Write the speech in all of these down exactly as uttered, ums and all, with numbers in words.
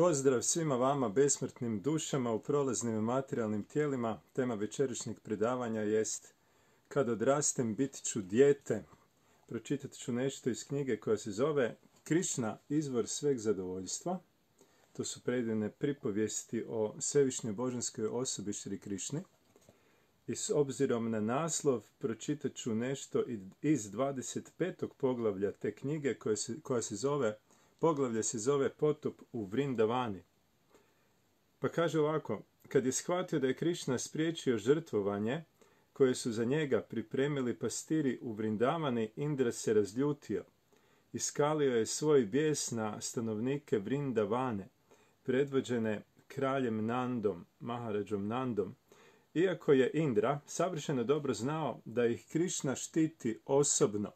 Pozdrav svima vama, besmrtnim dušama u prolaznim i materijalnim tijelima. Tema večerašnjeg predavanja jest Kad odrastem bit ću dijete. Pročitat ću nešto iz knjige koja se zove Krišna, izvor sveg zadovoljstva. To su predivne pripovijesti o svevišnjoj božanskoj osobi Šri Krišni. I s obzirom na naslov pročitat ću nešto iz dvadeset petog poglavlja te knjige koja se, koja se zove Poglavlje se zove Potop u Vrindavani. Pa kaže ovako, kad je shvatio da je Krišna spriječio žrtvovanje koje su za njega pripremili pastiri u Vrindavani, Indra se razljutio. Iskalio je svoj bijes na stanovnike Vrindavane, predvođene kraljem Nandom, Maharadžom Nandom, iako je Indra savršeno dobro znao da ih Krišna štiti osobno.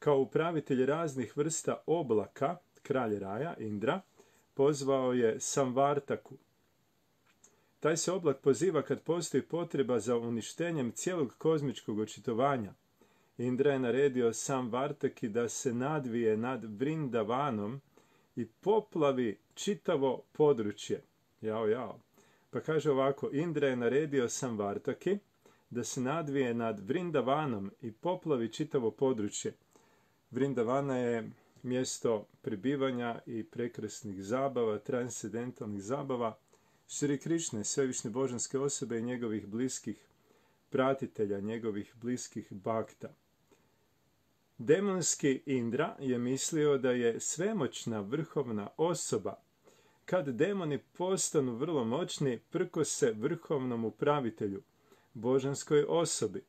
Kao upravitelj raznih vrsta oblaka, kralj Raja, Indra, pozvao je Samvartaku. Taj se oblak poziva kad postoji potreba za uništenjem cijelog kozmičkog očitovanja. Indra je naredio Samvartaki da se nadvije nad Vrindavanom i poplavi čitavo područje. Jao, jao. Pa kaže ovako, Indra je naredio Samvartaki da se nadvije nad Vrindavanom i poplavi čitavo područje. Vrindavana je mjesto prebivanja i prekrasnih zabava, transcendentalnih zabava Šri Krišne, svevišnje božanske osobe i njegovih bliskih pratitelja, njegovih bliskih bakta. Demonski Indra je mislio da je svemoćna vrhovna osoba. Kad demoni postanu vrlo moćni, prkose vrhovnom upravitelju, božanskoj osobi.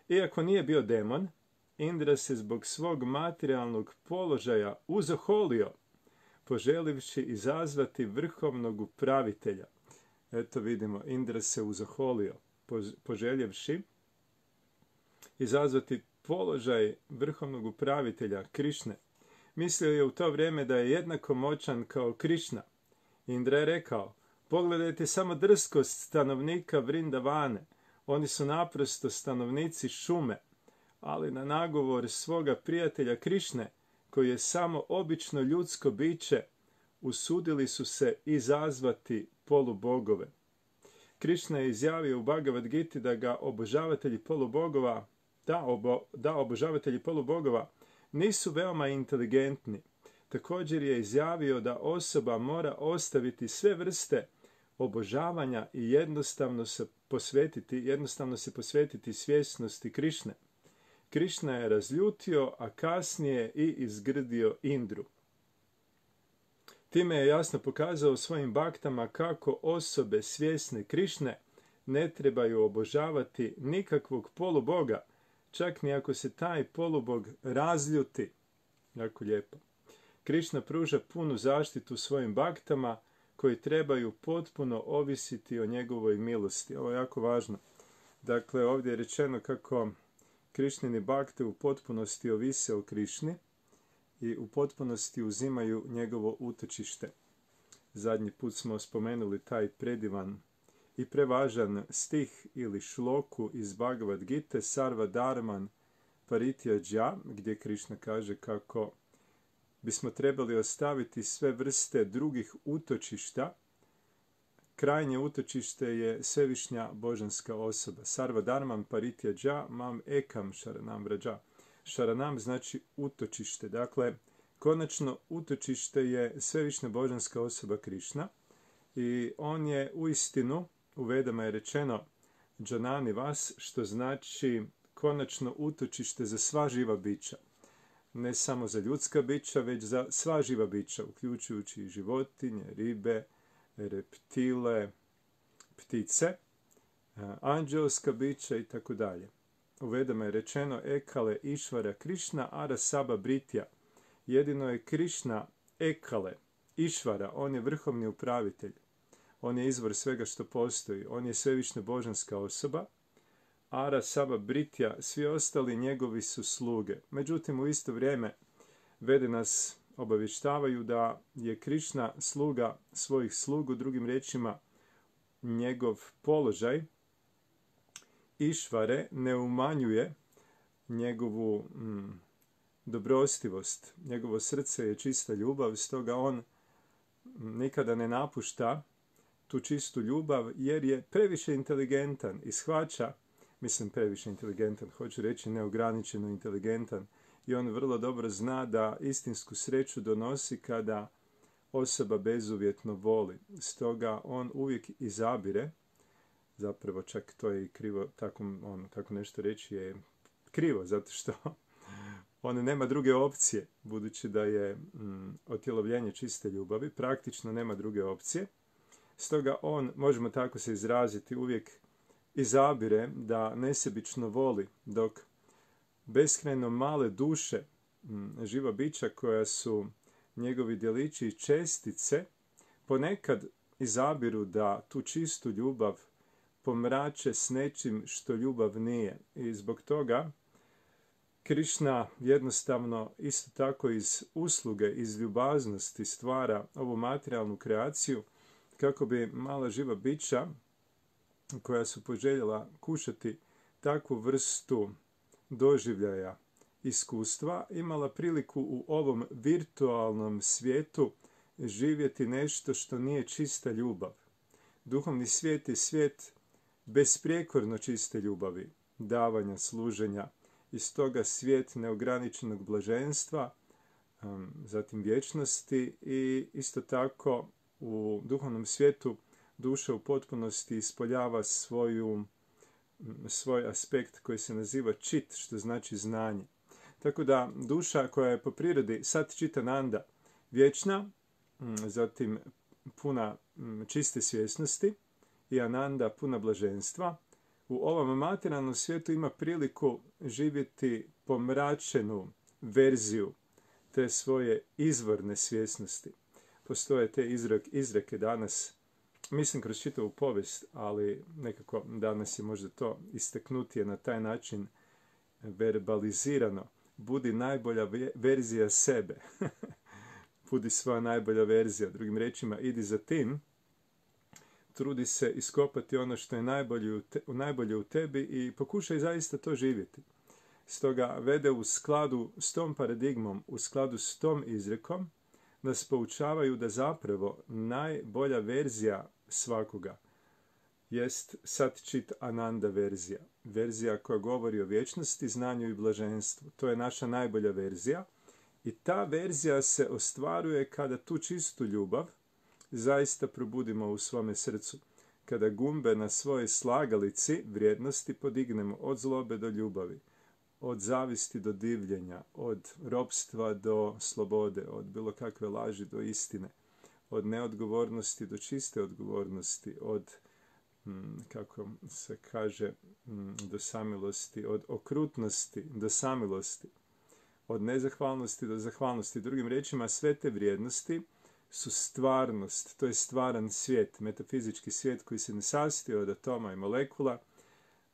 Iako nije bio demon, Indra se zbog svog materijalnog položaja uzoholio, poželivši izazvati vrhovnog upravitelja. Eto vidimo, Indra se uzoholio, poželjevši izazvati položaj vrhovnog upravitelja Krišne. Mislio je u to vrijeme da je jednako moćan kao Krišna. Indra je rekao, pogledajte samo drskost stanovnika Vrindavane, oni su naprosto stanovnici šume, ali na nagovor svoga prijatelja Krišne, koji je samo obično ljudsko biće, usudili su se izazvati polubogove. Krišna je izjavio u Bhagavad Giti da ga obožavatelji polubogova, da, obo, da obožavatelji polubogova nisu veoma inteligentni. Također je izjavio da osoba mora ostaviti sve vrste obožavanja i jednostavno se posvetiti, jednostavno se posvetiti svjesnosti Krišne. Krišna je razljutio, a kasnije i izgrdio Indru. Time je jasno pokazao svojim baktama kako osobe svjesne Krišne ne trebaju obožavati nikakvog poluboga, čak ni ako se taj polubog razljuti. Jako lijepo. Krišna pruža punu zaštitu svojim baktama koji trebaju potpuno ovisiti o njegovoj milosti. Ovo je jako važno. Dakle, ovdje je rečeno kako Krišnini bakte u potpunosti ovise o Krišni i u potpunosti uzimaju njegovo utočište. Zadnji put smo spomenuli taj predivan i prevažan stih ili šloku iz Bhagavad Gite Sarva Dharman Parityaja, gdje Krišna kaže kako bismo trebali ostaviti sve vrste drugih utočišta. Krajnje utočište je svevišnja božanska osoba. Sarva Dharman Parityaja mam ekam šaranam vrađa. Šaranam znači utočište. Dakle, konačno utočište je svevišnja božanska osoba Krišna i on je uistinu, u Vedama je rečeno Džanani vas, što znači konačno utočište za sva živa bića. Ne samo za ljudska bića, već za sva živa bića, uključujući i životinje, ribe, reptile, ptice, anđelska bića i tako dalje. U Vedama je rečeno Ekale Išvara Krišna Ara Saba Britja. Jedino je Krišna Ekale, Išvara, on je vrhovni upravitelj. On je izvor svega što postoji. On je svevišnja božanska osoba. Ara Saba Britja, svi ostali njegovi su sluge. Međutim, u isto vrijeme Vede nas obavještavaju da je Krišna sluga svojih slugu, drugim riječima njegov položaj Išvare ne umanjuje njegovu mm, dobrostivost. Njegovo srce je čista ljubav, stoga on nikada ne napušta tu čistu ljubav jer je previše inteligentan i shvaća, mislim previše inteligentan, hoću reći neograničeno inteligentan, i on vrlo dobro zna da istinsku sreću donosi kada osoba bezuvjetno voli. Stoga on uvijek izabire, zapravo čak to je i krivo, tako, on, tako nešto reći je krivo, zato što on nema druge opcije, budući da je mm, otjelovljenje čiste ljubavi, praktično nema druge opcije. Stoga on, možemo tako se izraziti, uvijek izabire da nesebično voli, dok beskrajno male duše, mm, živa bića koja su njegovi djelići i čestice, ponekad izabiru da tu čistu ljubav pomrače s nečim što ljubav nije. I zbog toga Krišna jednostavno isto tako iz usluge, iz ljubaznosti stvara ovu materijalnu kreaciju kako bi mala živa bića koja su poželjela kušati takvu vrstu doživljaja, iskustva, imala priliku u ovom virtualnom svijetu živjeti nešto što nije čista ljubav. Duhovni svijet je svijet besprijekorno čiste ljubavi, davanja, služenja, i stoga svijet neograničenog blaženstva, zatim vječnosti, i isto tako u duhovnom svijetu duša u potpunosti ispoljava svoju, svoj aspekt koji se naziva čit, što znači znanje. Tako da duša koja je po prirodi sat čitananda vječna, zatim puna čiste svjesnosti, i ananda puna blaženstva, u ovom materijalnom svijetu ima priliku živjeti pomračenu verziju te svoje izvorne svjesnosti. Postoje te izreke danas, mislim kroz čitavu povijest, ali nekako danas je možda to istaknutije na taj način verbalizirano. Budi najbolja verzija sebe. Budi svoja najbolja verzija. Drugim riječima, idi za tim, trudi se iskopati ono što je najbolje u, te, najbolje u tebi i pokušaj zaista to živjeti. Stoga vede u skladu s tom paradigmom, u skladu s tom izrekom, nas poučavaju da zapravo najbolja verzija svakoga jest Satčit Ananda verzija. Verzija koja govori o vječnosti, znanju i blaženstvu. To je naša najbolja verzija i ta verzija se ostvaruje kada tu čistu ljubav zaista probudimo u svome srcu. Kada gumbe na svojoj slagalici vrijednosti podignemo od zlobe do ljubavi, od zavisti do divljenja, od ropstva do slobode, od bilo kakve laži do istine, od neodgovornosti do čiste odgovornosti, od, kako se kaže, do samilosti, od okrutnosti do samilosti, od nezahvalnosti do zahvalnosti. Drugim riječima, sve te vrijednosti su stvarnost, to je stvaran svijet, metafizički svijet koji se ne sastoji od atoma i molekula.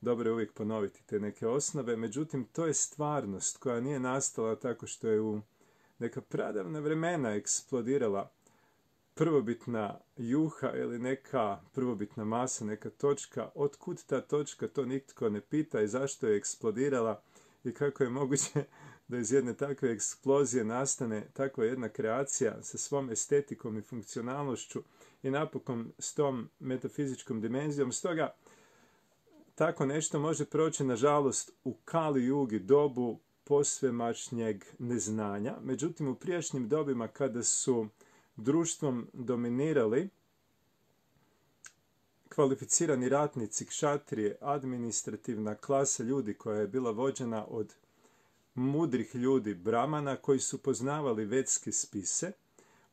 Dobro je uvijek ponoviti te neke osnove, međutim to je stvarnost koja nije nastala tako što je u neka pradavna vremena eksplodirala prvobitna juha ili neka prvobitna masa, neka točka. Otkud ta točka, to nitko ne pita, i zašto je eksplodirala i kako je moguće da iz jedne takve eksplozije nastane takva jedna kreacija sa svom estetikom i funkcionalnošću i napokon s tom metafizičkom dimenzijom. Stoga tako nešto može proći, nažalost, u Kali Jugi, dobu posvemašnjeg neznanja. Međutim, u prijašnjim dobima kada su društvom dominirali kvalificirani ratnici, kšatrije, administrativna klasa ljudi koja je bila vođena od mudrih ljudi, bramana, koji su poznavali vedske spise,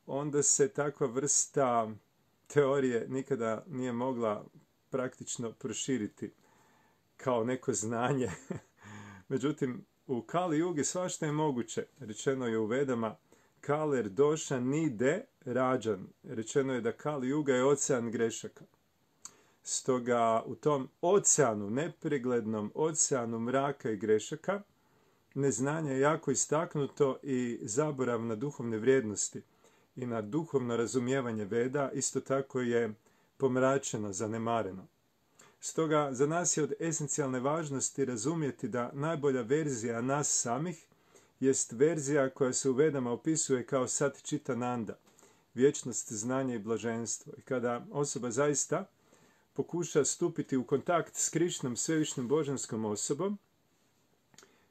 onda se takva vrsta teorije nikada nije mogla praktično proširiti kao neko znanje. Međutim, u Kali Jugi svašta je moguće. Rečeno je u Vedama Kaler doša nide rađan. Rečeno je da Kali Juga je ocean grešaka. Stoga u tom oceanu, nepreglednom oceanu mraka i grešaka, neznanje je jako istaknuto i zaborav na duhovne vrijednosti i na duhovno razumijevanje Veda isto tako je pomračeno, zanemareno. Stoga za nas je od esencijalne važnosti razumjeti da najbolja verzija nas samih jest verzija koja se u Vedama opisuje kao Satčitananda. vječnost, znanje i blaženstvo. I kada osoba zaista pokuša stupiti u kontakt s Krišnom, svevišnjom božanskom osobom,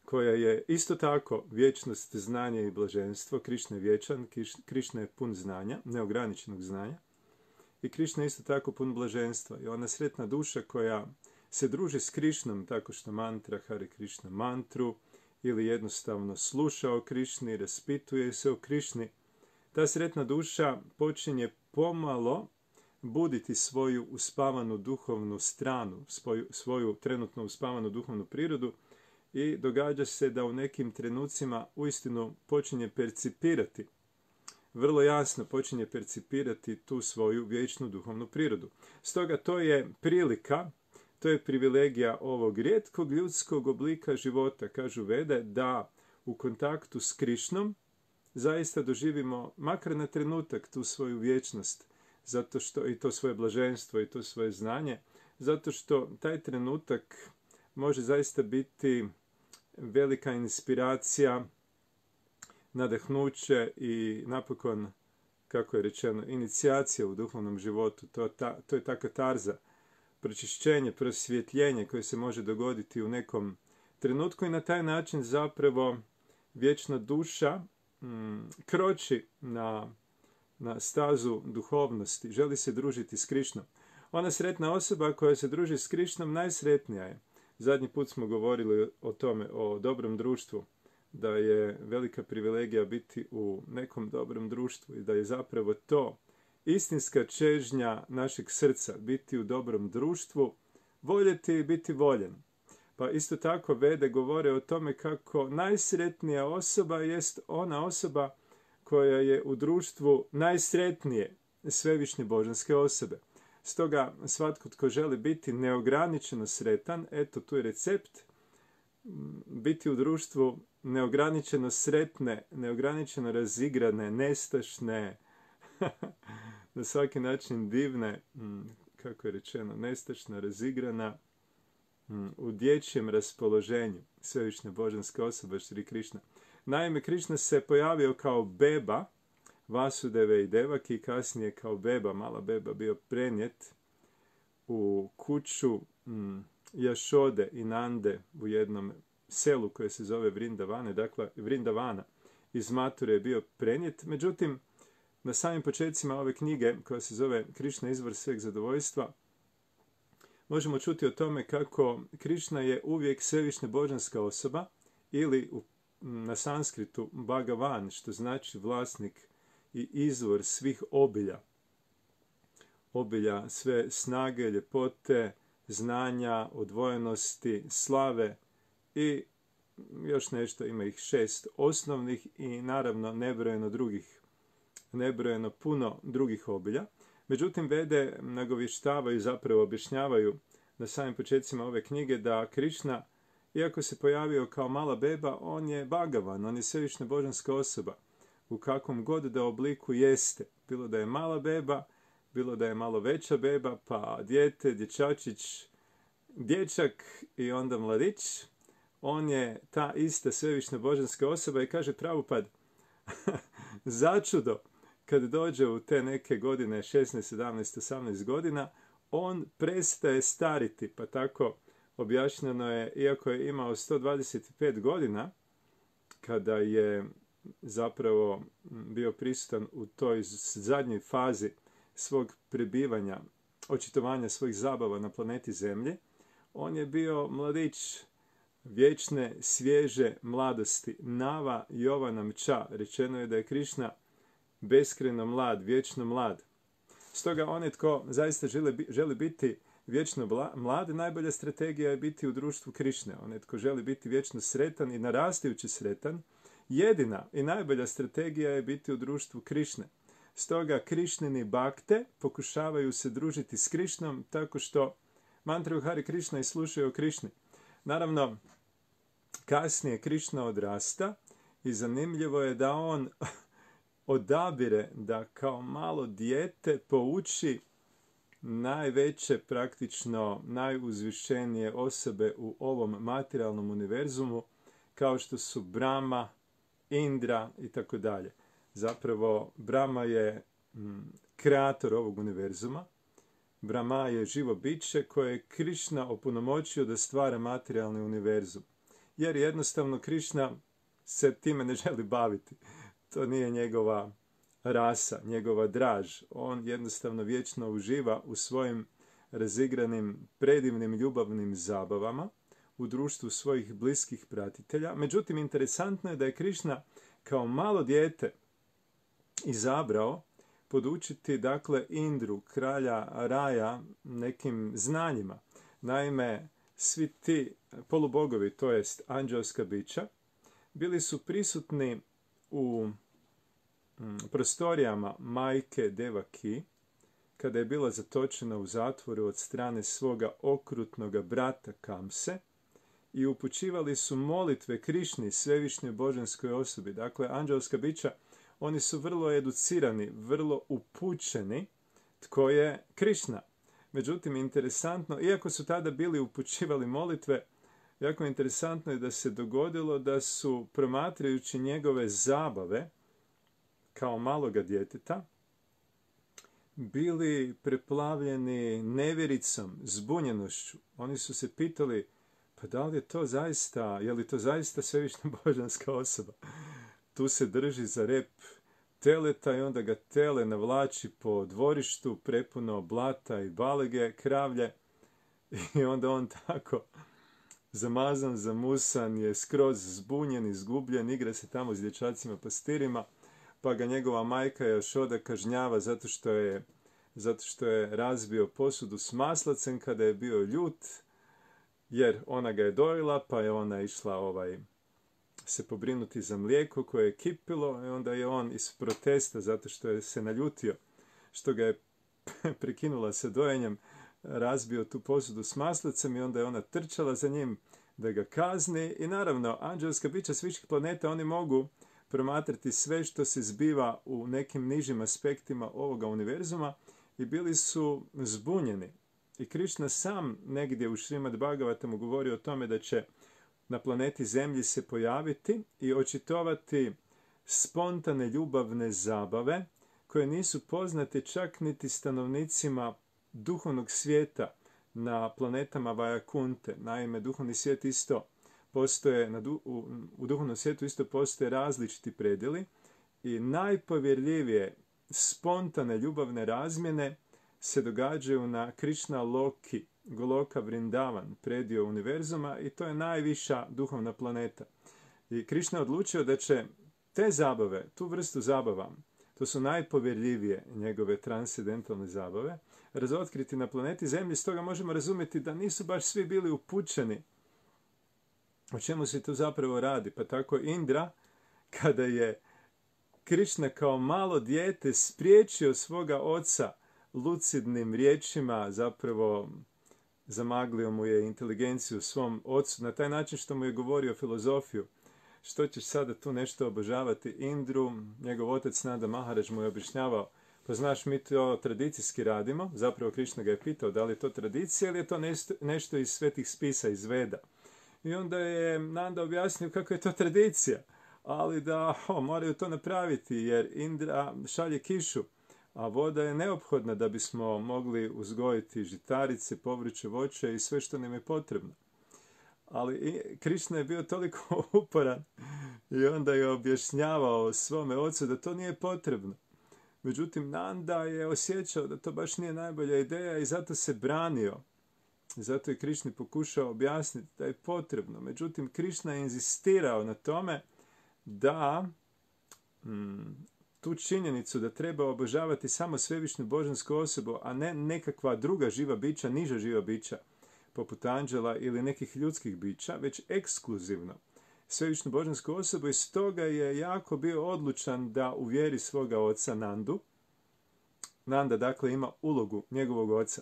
koja je isto tako vječnost, znanje i blaženstvo. Krišna je vječan, Krišna je pun znanja, neograničenog znanja. I Krišna je isto tako pun blaženstva. I ona sretna duša koja se druži s Krišnom tako što mantra Hare Krišna mantru ili jednostavno sluša o Krišni, raspituje se o Krišni, ta sretna duša počinje pomalo buditi svoju uspavanu duhovnu stranu, svoju, svoju trenutno uspavanu duhovnu prirodu i događa se da u nekim trenucima uistinu počinje percipirati, vrlo jasno počinje percipirati tu svoju vječnu duhovnu prirodu. Stoga to je prilika, to je privilegija ovog rijetkog ljudskog oblika života, kažu Vede, da u kontaktu s Krišnom zaista doživimo, makar na trenutak, tu svoju vječnost, zato što i to svoje blaženstvo i to svoje znanje, zato što taj trenutak može zaista biti velika inspiracija, nadahnuće i napokon, kako je rečeno, inicijacija u duhovnom životu. To, ta, to je ta katarza, pročišćenje, prosvjetljenje koje se može dogoditi u nekom trenutku i na taj način zapravo vječna duša mm, kroči na, na stazu duhovnosti, želi se družiti s Krišnom. Ona sretna osoba koja se druži s Krišnom najsretnija je. Zadnji put smo govorili o tome, o dobrom društvu, da je velika privilegija biti u nekom dobrom društvu i da je zapravo to istinska čežnja našeg srca, biti u dobrom društvu, voljeti i biti voljen. Pa isto tako Vede govore o tome kako najsretnija osoba jest ona osoba koja je u društvu najsretnije svevišnje božanske osobe. Stoga svatko tko želi biti neograničeno sretan, eto tu je recept, biti u društvu neograničeno sretne, neograničeno razigrane, nestašne, na svaki način divne, kako je rečeno, nestašna, razigrana, u dječjem raspoloženju, svevišnja božanska osoba Šri Krišna. Naime, Krišna se pojavio kao beba Vasudeve i Devaki i kasnije kao beba, mala beba, bio prenijet u kuću mm, Jašode i Nande u jednom selu koje se zove Vrindavane, dakle Vrindavana. Iz Mature je bio prenijet. Međutim, na samim početcima ove knjige, koja se zove Krišna izvor sveg zadovoljstva, možemo čuti o tome kako Krišna je uvijek svevišnja božanska osoba ili u, na sanskritu Bhagavan, što znači vlasnik i izvor svih obilja. Obilja sve snage, ljepote, znanja, odvojenosti, slave i još nešto, ima ih šest osnovnih i naravno nebrojeno drugih, nebrojeno puno drugih obilja. Međutim, Vede nagovještavaju, zapravo objašnjavaju na samim početcima ove knjige da Krišna, iako se pojavio kao mala beba, on je Bhagavan, on je svevišnja božanska osoba. U kakvom god da obliku jeste. Bilo da je mala beba, bilo da je malo veća beba, pa dijete, dječačić, dječak i onda mladić. On je ta ista svevišnja božanska osoba i kaže Prabhupad, začudo, kad dođe u te neke godine, šesnaest, sedamnaest, osamnaest godina, on prestaje stariti, pa tako objašnjeno je, iako je imao sto dvadeset pet godina, kada je zapravo bio prisutan u toj zadnjoj fazi svog prebivanja, očitovanja svojih zabava na planeti Zemlji, on je bio mladić vječne, svježe mladosti. Nava Jovanam Ča. Rečeno je da je Krišna beskrajno mlad, vječno mlad. Stoga onaj tko zaista želi, želi biti vječno mlad, najbolja strategija je biti u društvu Krišne. Onaj tko želi biti vječno sretan i narastajući sretan, jedina i najbolja strategija je biti u društvu Krišne. Stoga Krišnini bakte pokušavaju se družiti s Krišnom tako što mantraju Hare Krišna i slušaju o Krišni. Naravno, kasnije Krišna odrasta i zanimljivo je da on odabire da kao malo dijete pouči najveće, praktično najuzvišenije osobe u ovom materijalnom univerzumu, kao što su Brahma, Indra i tako dalje. Zapravo, Brahma je kreator ovog univerzuma. Brahma je živo biće koje je Krišna opunomoćio da stvara materijalni univerzum. Jer jednostavno Krišna se time ne želi baviti. To nije njegova rasa, njegova draž. On jednostavno vječno uživa u svojim razigranim, predivnim ljubavnim zabavama u društvu svojih bliskih pratitelja. Međutim, interesantno je da je Krišna kao malo dijete izabrao podučiti, dakle, Indru, kralja Raja, nekim znanjima. Naime, svi ti polubogovi, to jest anđelska bića, bili su prisutni u mm, prostorijama majke Devaki, kada je bila zatočena u zatvoru od strane svoga okrutnoga brata Kamse, i upućivali su molitve Krišni, svevišnjoj božanskoj osobi. Dakle, anđelska bića, oni su vrlo educirani, vrlo upućeni tko je Krišna. Međutim, interesantno, iako su tada bili upućivali molitve, jako interesantno je da se dogodilo da su, promatrajući njegove zabave kao maloga djeteta, bili preplavljeni nevjericom, zbunjenošću. Oni su se pitali, pa da li je to zaista, je li to zaista svevišnja božanska osoba? Tu se drži za rep teleta i onda ga tele navlači po dvorištu prepuno blata i balege, kravlje, i onda on tako zamazan, zamusan je, skroz zbunjen, izgubljen, igra se tamo s dječacima pastirima, pa ga njegova majka Jašoda kažnjava zato što je, zato što je razbio posudu s maslacem kada je bio ljut, jer ona ga je dojela, pa je ona išla ovaj se pobrinuti za mlijeko koje je kipilo, i onda je on iz protesta, zato što je se naljutio, što ga je prekinula sa dojenjem, razbio tu posudu s maslacem, i onda je ona trčala za njim da ga kazni. I naravno, anđelska bića s viših planeta, oni mogu promatrati sve što se zbiva u nekim nižim aspektima ovoga univerzuma, i bili su zbunjeni. I Krišna sam negdje u Šrimad Bhagavatamu govori o tome da će na planeti Zemlji se pojaviti i očitovati spontane ljubavne zabave koje nisu poznate čak niti stanovnicima duhovnog svijeta na planetama Vajakunte. Naime, duhovni svijet isto postoje, na du, u, u duhovnom svijetu isto postoje različiti predjeli, i najpovjerljivije spontane ljubavne razmjene se događaju na Krišna Loki, Goloka Vrindavan, predio univerzuma, i to je najviša duhovna planeta. I Krišna je odlučio da će te zabave, tu vrstu zabava, to su najpovjerljivije njegove transcendentalne zabave, razotkriti na planeti Zemlji. Stoga možemo razumjeti da nisu baš svi bili upućeni o čemu se tu zapravo radi. Pa tako Indra, kada je Krišna kao malo dijete spriječio svoga oca lucidnim riječima, zapravo zamaglio mu je inteligenciju svom ocu na taj način što mu je govorio filozofiju. Što ćeš sada tu nešto obožavati Indru? Njegov otac Nanda Maharaj mu je objašnjavao, pa znaš, mi to tradicijski radimo. Zapravo Krišna ga je pitao da li je to tradicija ili je to nešto, nešto iz svetih spisa, iz Veda. I onda je Nanda objasnio kako je to tradicija, ali da o, moraju to napraviti jer Indra šalje kišu, a voda je neophodna da bismo mogli uzgojiti žitarice, povrće, voće i sve što nam je potrebno. Ali Krišna je bio toliko uporan i onda je objašnjavao svome ocu da to nije potrebno. Međutim, Nanda je osjećao da to baš nije najbolja ideja i zato se branio. Zato je Krišni pokušao objasniti da je potrebno. Međutim, Krišna je inzistirao na tome da mm, tu činjenicu da treba obožavati samo svevišnju božansku osobu, a ne nekakva druga živa bića, niža živa bića, poput anđela ili nekih ljudskih bića, već ekskluzivno svevišnju božansku osobu, i stoga je jako bio odlučan da uvjeri svoga oca Nandu. Nanda, dakle, ima ulogu njegovog oca.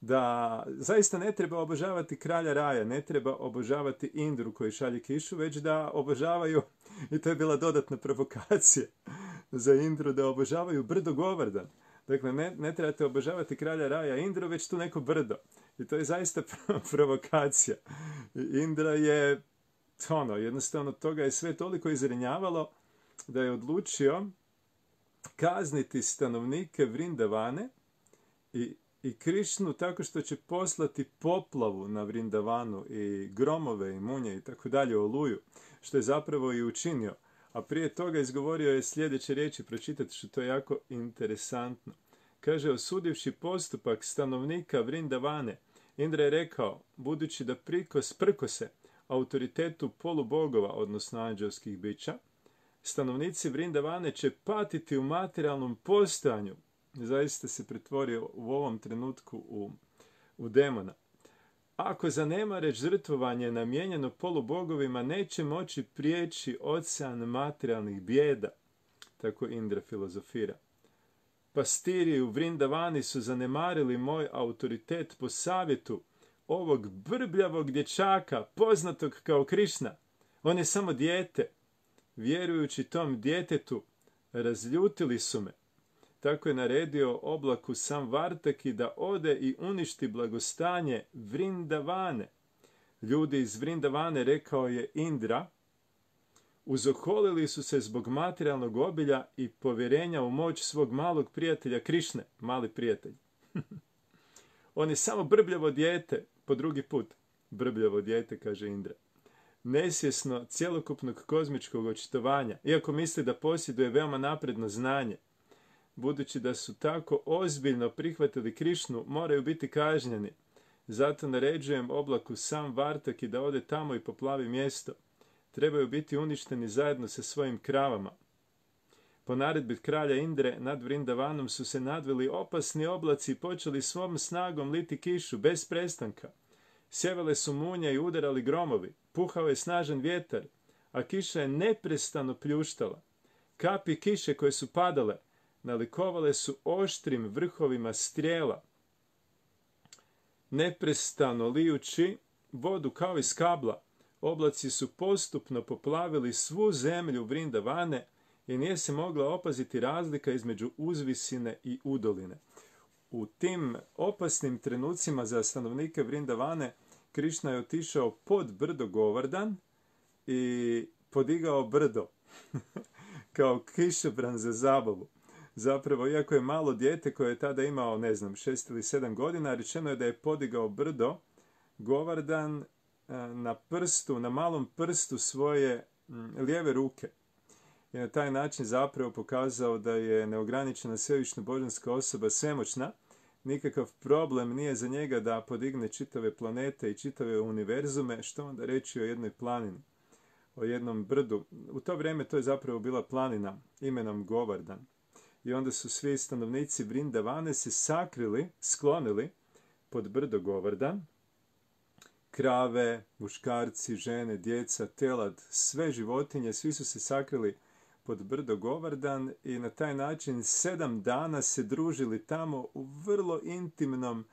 Da zaista ne treba obožavati kralja raja, ne treba obožavati Indru koji šalje kišu, već da obožavaju, i to je bila dodatna provokacija za Indru, da obožavaju brdo Govardan. Dakle, ne, ne trebate obožavati kralja raja Indru, već tu neko brdo. I to je zaista provokacija. I Indra je, ono, jednostavno toga je sve toliko izrenjavalo da je odlučio kazniti stanovnike Vrindavane i, i Krišnu tako što će poslati poplavu na Vrindavanu i gromove i munje i tako dalje, oluju, što je zapravo i učinio. A prije toga izgovorio je sljedeće riječi, pročitati što to je jako interesantno. Kaže, osudivši postupak stanovnika Vrindavane, Indra je rekao, budući da prikos, prkose autoritetu polubogova, odnosno anđelskih bića, stanovnici Vrindavane će patiti u materijalnom postojanju. Zaista se pretvorio u ovom trenutku u, u demona. Ako zanemare žrtvovanje namijenjeno polubogovima, neće moći prijeći ocean materijalnih bijeda. Tako Indra filozofira. Pastiri u Vrindavani su zanemarili moj autoritet po savjetu ovog brbljavog dječaka, poznatog kao Krišna. On je samo dijete. Vjerujući tom djetetu, razljutili su me. Tako je naredio oblaku Samvartaki da ode i uništi blagostanje Vrindavane. Ljudi iz Vrindavane, rekao je Indra, uzoholili su se zbog materijalnog obilja i povjerenja u moć svog malog prijatelja Krišne, mali prijatelj. On je samo brbljavo dijete, po drugi put. Brbljavo dijete, kaže Indra. Nesvjesno cjelokupnog kozmičkog očitovanja, iako misli da posjeduje veoma napredno znanje. Budući da su tako ozbiljno prihvatili Krišnu, moraju biti kažnjeni. Zato naređujem oblaku Samvartaki da ode tamo i poplavi mjesto. Trebaju biti uništeni zajedno sa svojim kravama. Po naredbi kralja Indre nad Vrindavanom su se nadvili opasni oblaci i počeli svom snagom liti kišu bez prestanka. Sjevale su munje i udarali gromovi, puhao je snažan vjetar, a kiša je neprestano pljuštala. Kapi kiše koje su padale nalikovale su oštrim vrhovima strijela, neprestano lijući vodu kao iz kabla. Oblaci su postupno poplavili svu zemlju Vrindavane i nije se mogla opaziti razlika između uzvisine i udoline. U tim opasnim trenucima za stanovnike Vrindavane Krišna je otišao pod brdo Govardan i podigao brdo kao kišobran za zabavu. Zapravo, iako je malo dijete koje je tada imao, ne znam, šest ili sedam godina, rečeno je da je podigao brdo Govardan na prstu, na malom prstu svoje lijeve ruke. I na taj način zapravo pokazao da je neograničena svevišnja božanska osoba svemoćna. Nikakav problem nije za njega da podigne čitave planete i čitave univerzume, što onda reći o jednoj planini, o jednom brdu. U to vrijeme to je zapravo bila planina imenom Govardan. I onda su svi stanovnici Vrindavane se sakrili, sklonili pod brdo Govardan. Krave, muškarci, žene, djeca, telad, sve životinje, svi su se sakrili pod brdo Govardan i na taj način sedam dana se družili tamo u vrlo intimnom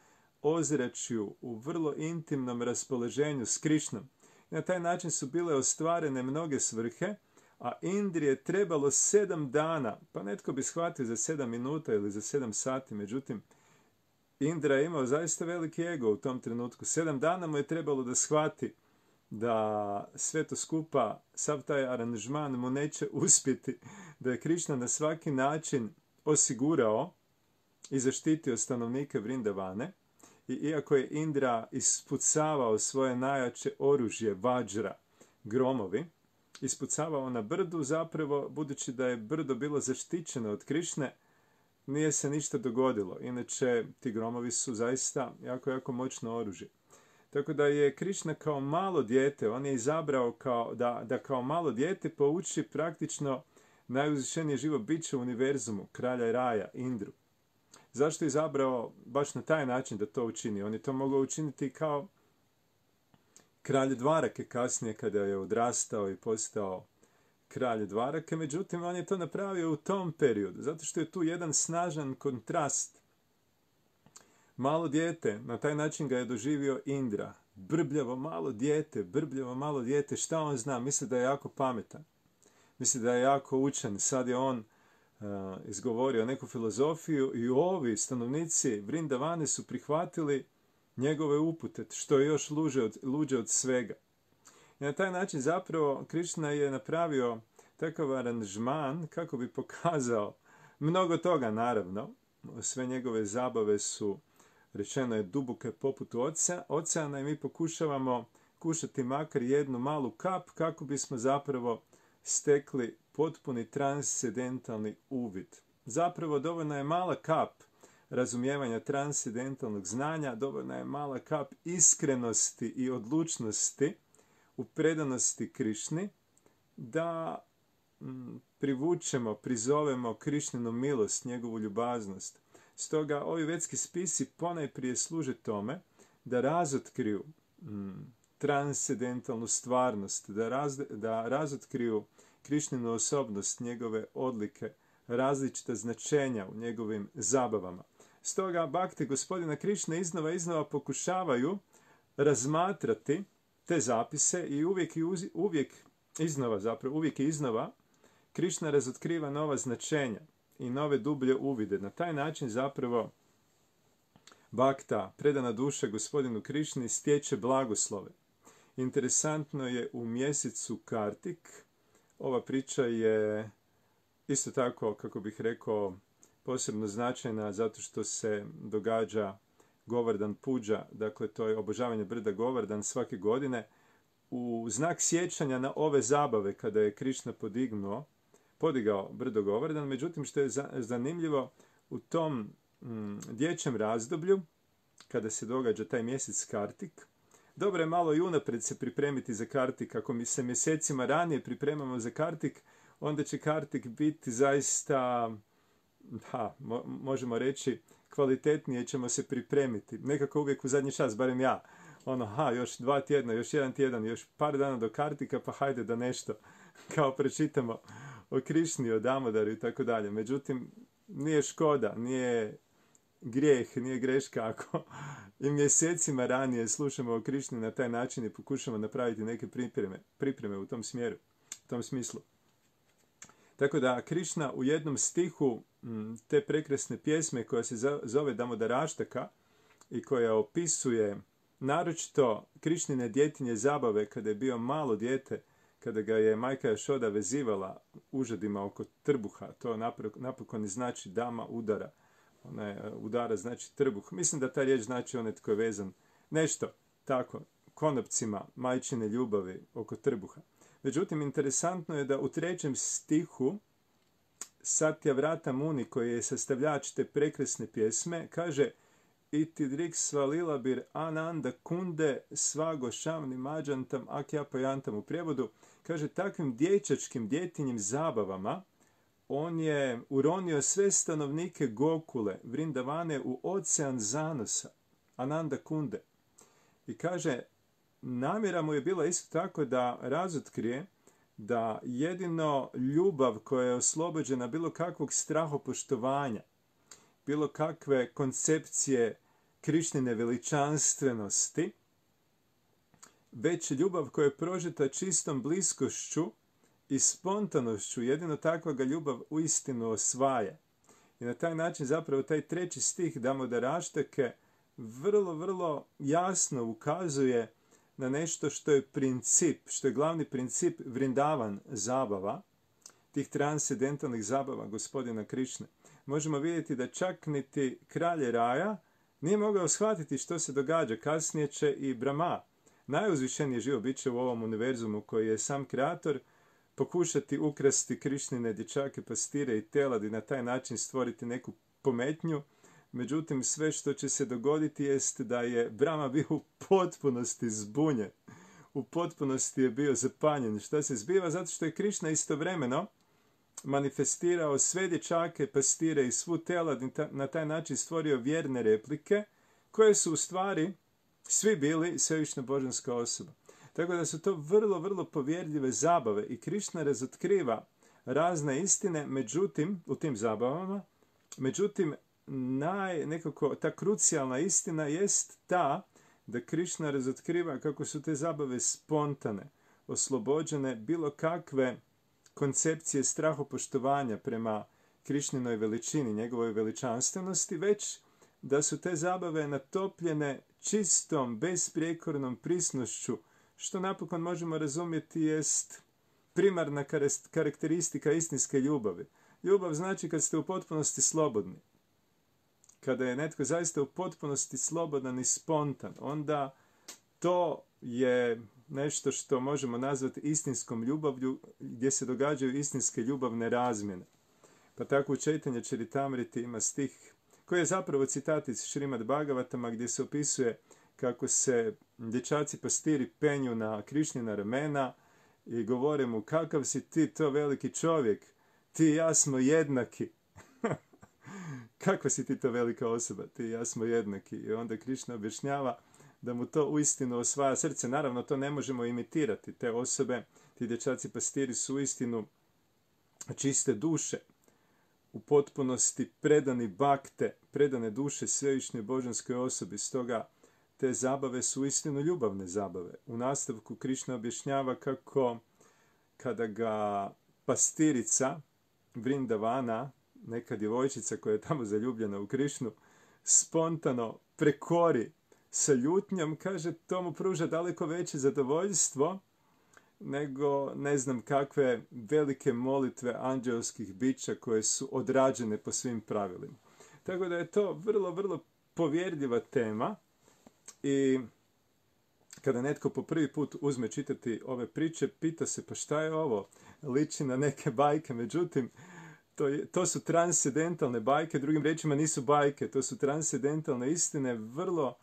ozračju, u vrlo intimnom raspoloženju s Krišnom. I na taj način su bile ostvarene mnoge svrhe, a Indri je trebalo sedam dana, pa netko bi shvatio za sedam minuta ili za sedam sati, međutim, Indra je imao zaista veliki ego u tom trenutku. Sedam dana mu je trebalo da shvati da sve to skupa, sav taj aranžman mu neće uspjeti, da je Krišna na svaki način osigurao i zaštitio stanovnike Vrindavane. I iako je Indra ispucavao svoje najjače oružje, vajra, gromovi, ispucavao na brdu, zapravo, budući da je brdo bilo zaštićeno od Krišne, nije se ništa dogodilo. Inače, ti gromovi su zaista jako, jako moćno oružje. Tako da je Krišna kao malo dijete, on je izabrao kao, da, da kao malo dijete pouči praktično najuzvišenije živo biće u univerzumu, kralja Raja, Indru. Zašto je izabrao baš na taj način da to učini? On je to mogao učiniti kao kralj Dvarake kasnije kada je odrastao i postao kralj Dvarake, međutim on je to napravio u tom periodu, zato što je tu jedan snažan kontrast. Malo dijete, na taj način ga je doživio Indra. Brbljavo malo dijete, brbljavo malo dijete, šta on zna? Misli da je jako pametan. Misli da je jako učen. Sad je on uh, izgovorio neku filozofiju i ovi stanovnici Vrindavane su prihvatili njegove upute, što je još luđe od, luđe od svega. I na taj način zapravo Krišna je napravio takav aranžman kako bi pokazao mnogo toga naravno. Sve njegove zabave su, rečeno je, duboke poput oceana i mi pokušavamo kušati makar jednu malu kap kako bismo zapravo stekli potpuni transcendentalni uvid. Zapravo dovoljna je mala kap razumijevanja transcendentalnog znanja, dovoljna je mala kap iskrenosti i odlučnosti u predanosti Krišni da m, privučemo, prizovemo Krišninu milost, njegovu ljubaznost. Stoga ovi vedski spisi ponajprije služe tome da razotkriju m, transcendentalnu stvarnost, da, raz, da razotkriju Krišninu osobnost, njegove odlike, različita značenja u njegovim zabavama. Stoga bakte gospodina Krišne iznova iznova pokušavaju razmatrati te zapise i uvijek, i uz, uvijek iznova, zapravo uvijek i iznova Krišna razotkriva nova značenja i nove dublje uvide. Na taj način zapravo bakta, predana duša gospodinu Krišni, stječe blagoslove. Interesantno je u mjesecu Kartik, ova priča je isto tako, kako bih rekao, posebno značajna zato što se događa Govardhan Puđa, dakle to je obožavanje brda Govardhan svake godine, u znak sjećanja na ove zabave kada je Krišna podignuo, podigao brdo Govardhan. Međutim, što je zanimljivo, u tom mm, dječjem razdoblju, kada se događa taj mjesec Kartik, dobro je malo i unaprijed se pripremiti za Kartik. Ako mi se mjesecima ranije pripremamo za Kartik, onda će Kartik biti zaista, ha, mo- možemo reći, kvalitetnije ćemo se pripremiti. Nekako uvijek u zadnji čas, barem ja, ono, ha, još dva tjedna, još jedan tjedan, još par dana do Kartika, pa hajde da nešto, kao pročitamo o Krišni, o Damodaru i tako dalje. Međutim, nije škoda, nije grijeh, nije greška ako i mjesecima ranije slušamo o Krišni na taj način i pokušamo napraviti neke pripreme, pripreme u tom smjeru, u tom smislu. Tako da Krišna u jednom stihu te prekrasne pjesme koja se zove Damodaraštaka i koja opisuje naročito Krišnine djetinje zabave kada je bio malo dijete, kada ga je majka Jašoda vezivala užadima oko trbuha. To napokon i znači dama udara. Ona je udara znači trbuh. Mislim da ta riječ znači onaj tko je vezan. Nešto tako, konopcima majčine ljubavi oko trbuha. Međutim, interesantno je da u trećem stihu Satyavrata Muni, koji je sastavljač te prekrasne pjesme, kaže Iti drik svalilabir ananda kunde svago šamni mađantam akjapajantam. U prijevodu kaže takvim dječačkim djetinjim zabavama on je uronio sve stanovnike Gokule, Vrindavane, u ocean zanosa, Ananda kunde. I kaže, namjera mu je bila isto tako da razotkrije da jedino ljubav koja je oslobođena bilo kakvog strahopoštovanja, bilo kakve koncepcije Krišnine veličanstvenosti, već ljubav koja je prožeta čistom bliskošću i spontanošću, jedino takva ga ljubav uistinu osvaja. I na taj način zapravo taj treći stih Damodaraštake vrlo, vrlo jasno ukazuje na nešto što je princip, što je glavni princip Vrindavan zabava, tih transcendentalnih zabava gospodina Krišne. Možemo vidjeti da čak niti kralj raja nije mogao shvatiti što se događa. Kasnije će i Brahma, najuzvišenije živo biće u ovom univerzumu koji je sam kreator, pokušati ukrasti Krišnine dječake, pastire i telad i na taj način stvoriti neku pometnju. Međutim, sve što će se dogoditi jest da je Brahma bio u potpunosti zbunjen. U potpunosti je bio zapanjen. Šta se zbiva? Zato što je Krišna istovremeno manifestirao sve dječake, pastire i svu telad i na taj način stvorio vjerne replike koje su u stvari svi bili svevišnja božanska osoba. Tako da su to vrlo, vrlo povjerljive zabave i Krišna razotkriva razne istine, međutim, u tim zabavama, međutim, naj, nekako, ta krucijalna istina jest ta da Krišna razotkriva kako su te zabave spontane, oslobođene bilo kakve koncepcije strahopoštovanja prema Krišninoj veličini, njegovoj veličanstvenosti, već da su te zabave natopljene čistom, besprijekornom prisnošću, što napokon možemo razumjeti jest primarna karakteristika istinske ljubavi. Ljubav znači kad ste u potpunosti slobodni. Kada je netko zaista u potpunosti slobodan i spontan, onda to je nešto što možemo nazvati istinskom ljubavlju, gdje se događaju istinske ljubavne razmjene. Pa tako u Čaitanja Čaritamriti ima stih koji je zapravo citat iz Šrimad Bhagavatama, gdje se opisuje kako se dječaci pastiri penju na Krišnjina ramena i govore mu: kakav si ti to veliki čovjek, ti i ja smo jednaki. Kakva si ti to velika osoba, ti i ja smo jednaki. I onda Krišna objašnjava da mu to uistinu osvaja srce. Naravno, to ne možemo imitirati. Te osobe, ti dječaci pastiri su uistinu čiste duše, u potpunosti predani bakte, predane duše svevišnjoj božanskoj osobi. Stoga te zabave su uistinu ljubavne zabave. U nastavku Krišna objašnjava kako kada ga pastirica Vrindavana, neka djevojčica koja je tamo zaljubljena u Krišnu, spontano prekori sa ljutnjom, kaže, to mu pruža daleko veće zadovoljstvo nego ne znam kakve velike molitve anđelskih bića koje su odrađene po svim pravilima. Tako da je to vrlo, vrlo povjerljiva tema i kada netko po prvi put uzme čitati ove priče, pita se pa šta je ovo? Liči na neke bajke, međutim, to, je, to su transcendentalne bajke, drugim riječima nisu bajke, to su transcendentalne istine, vrlo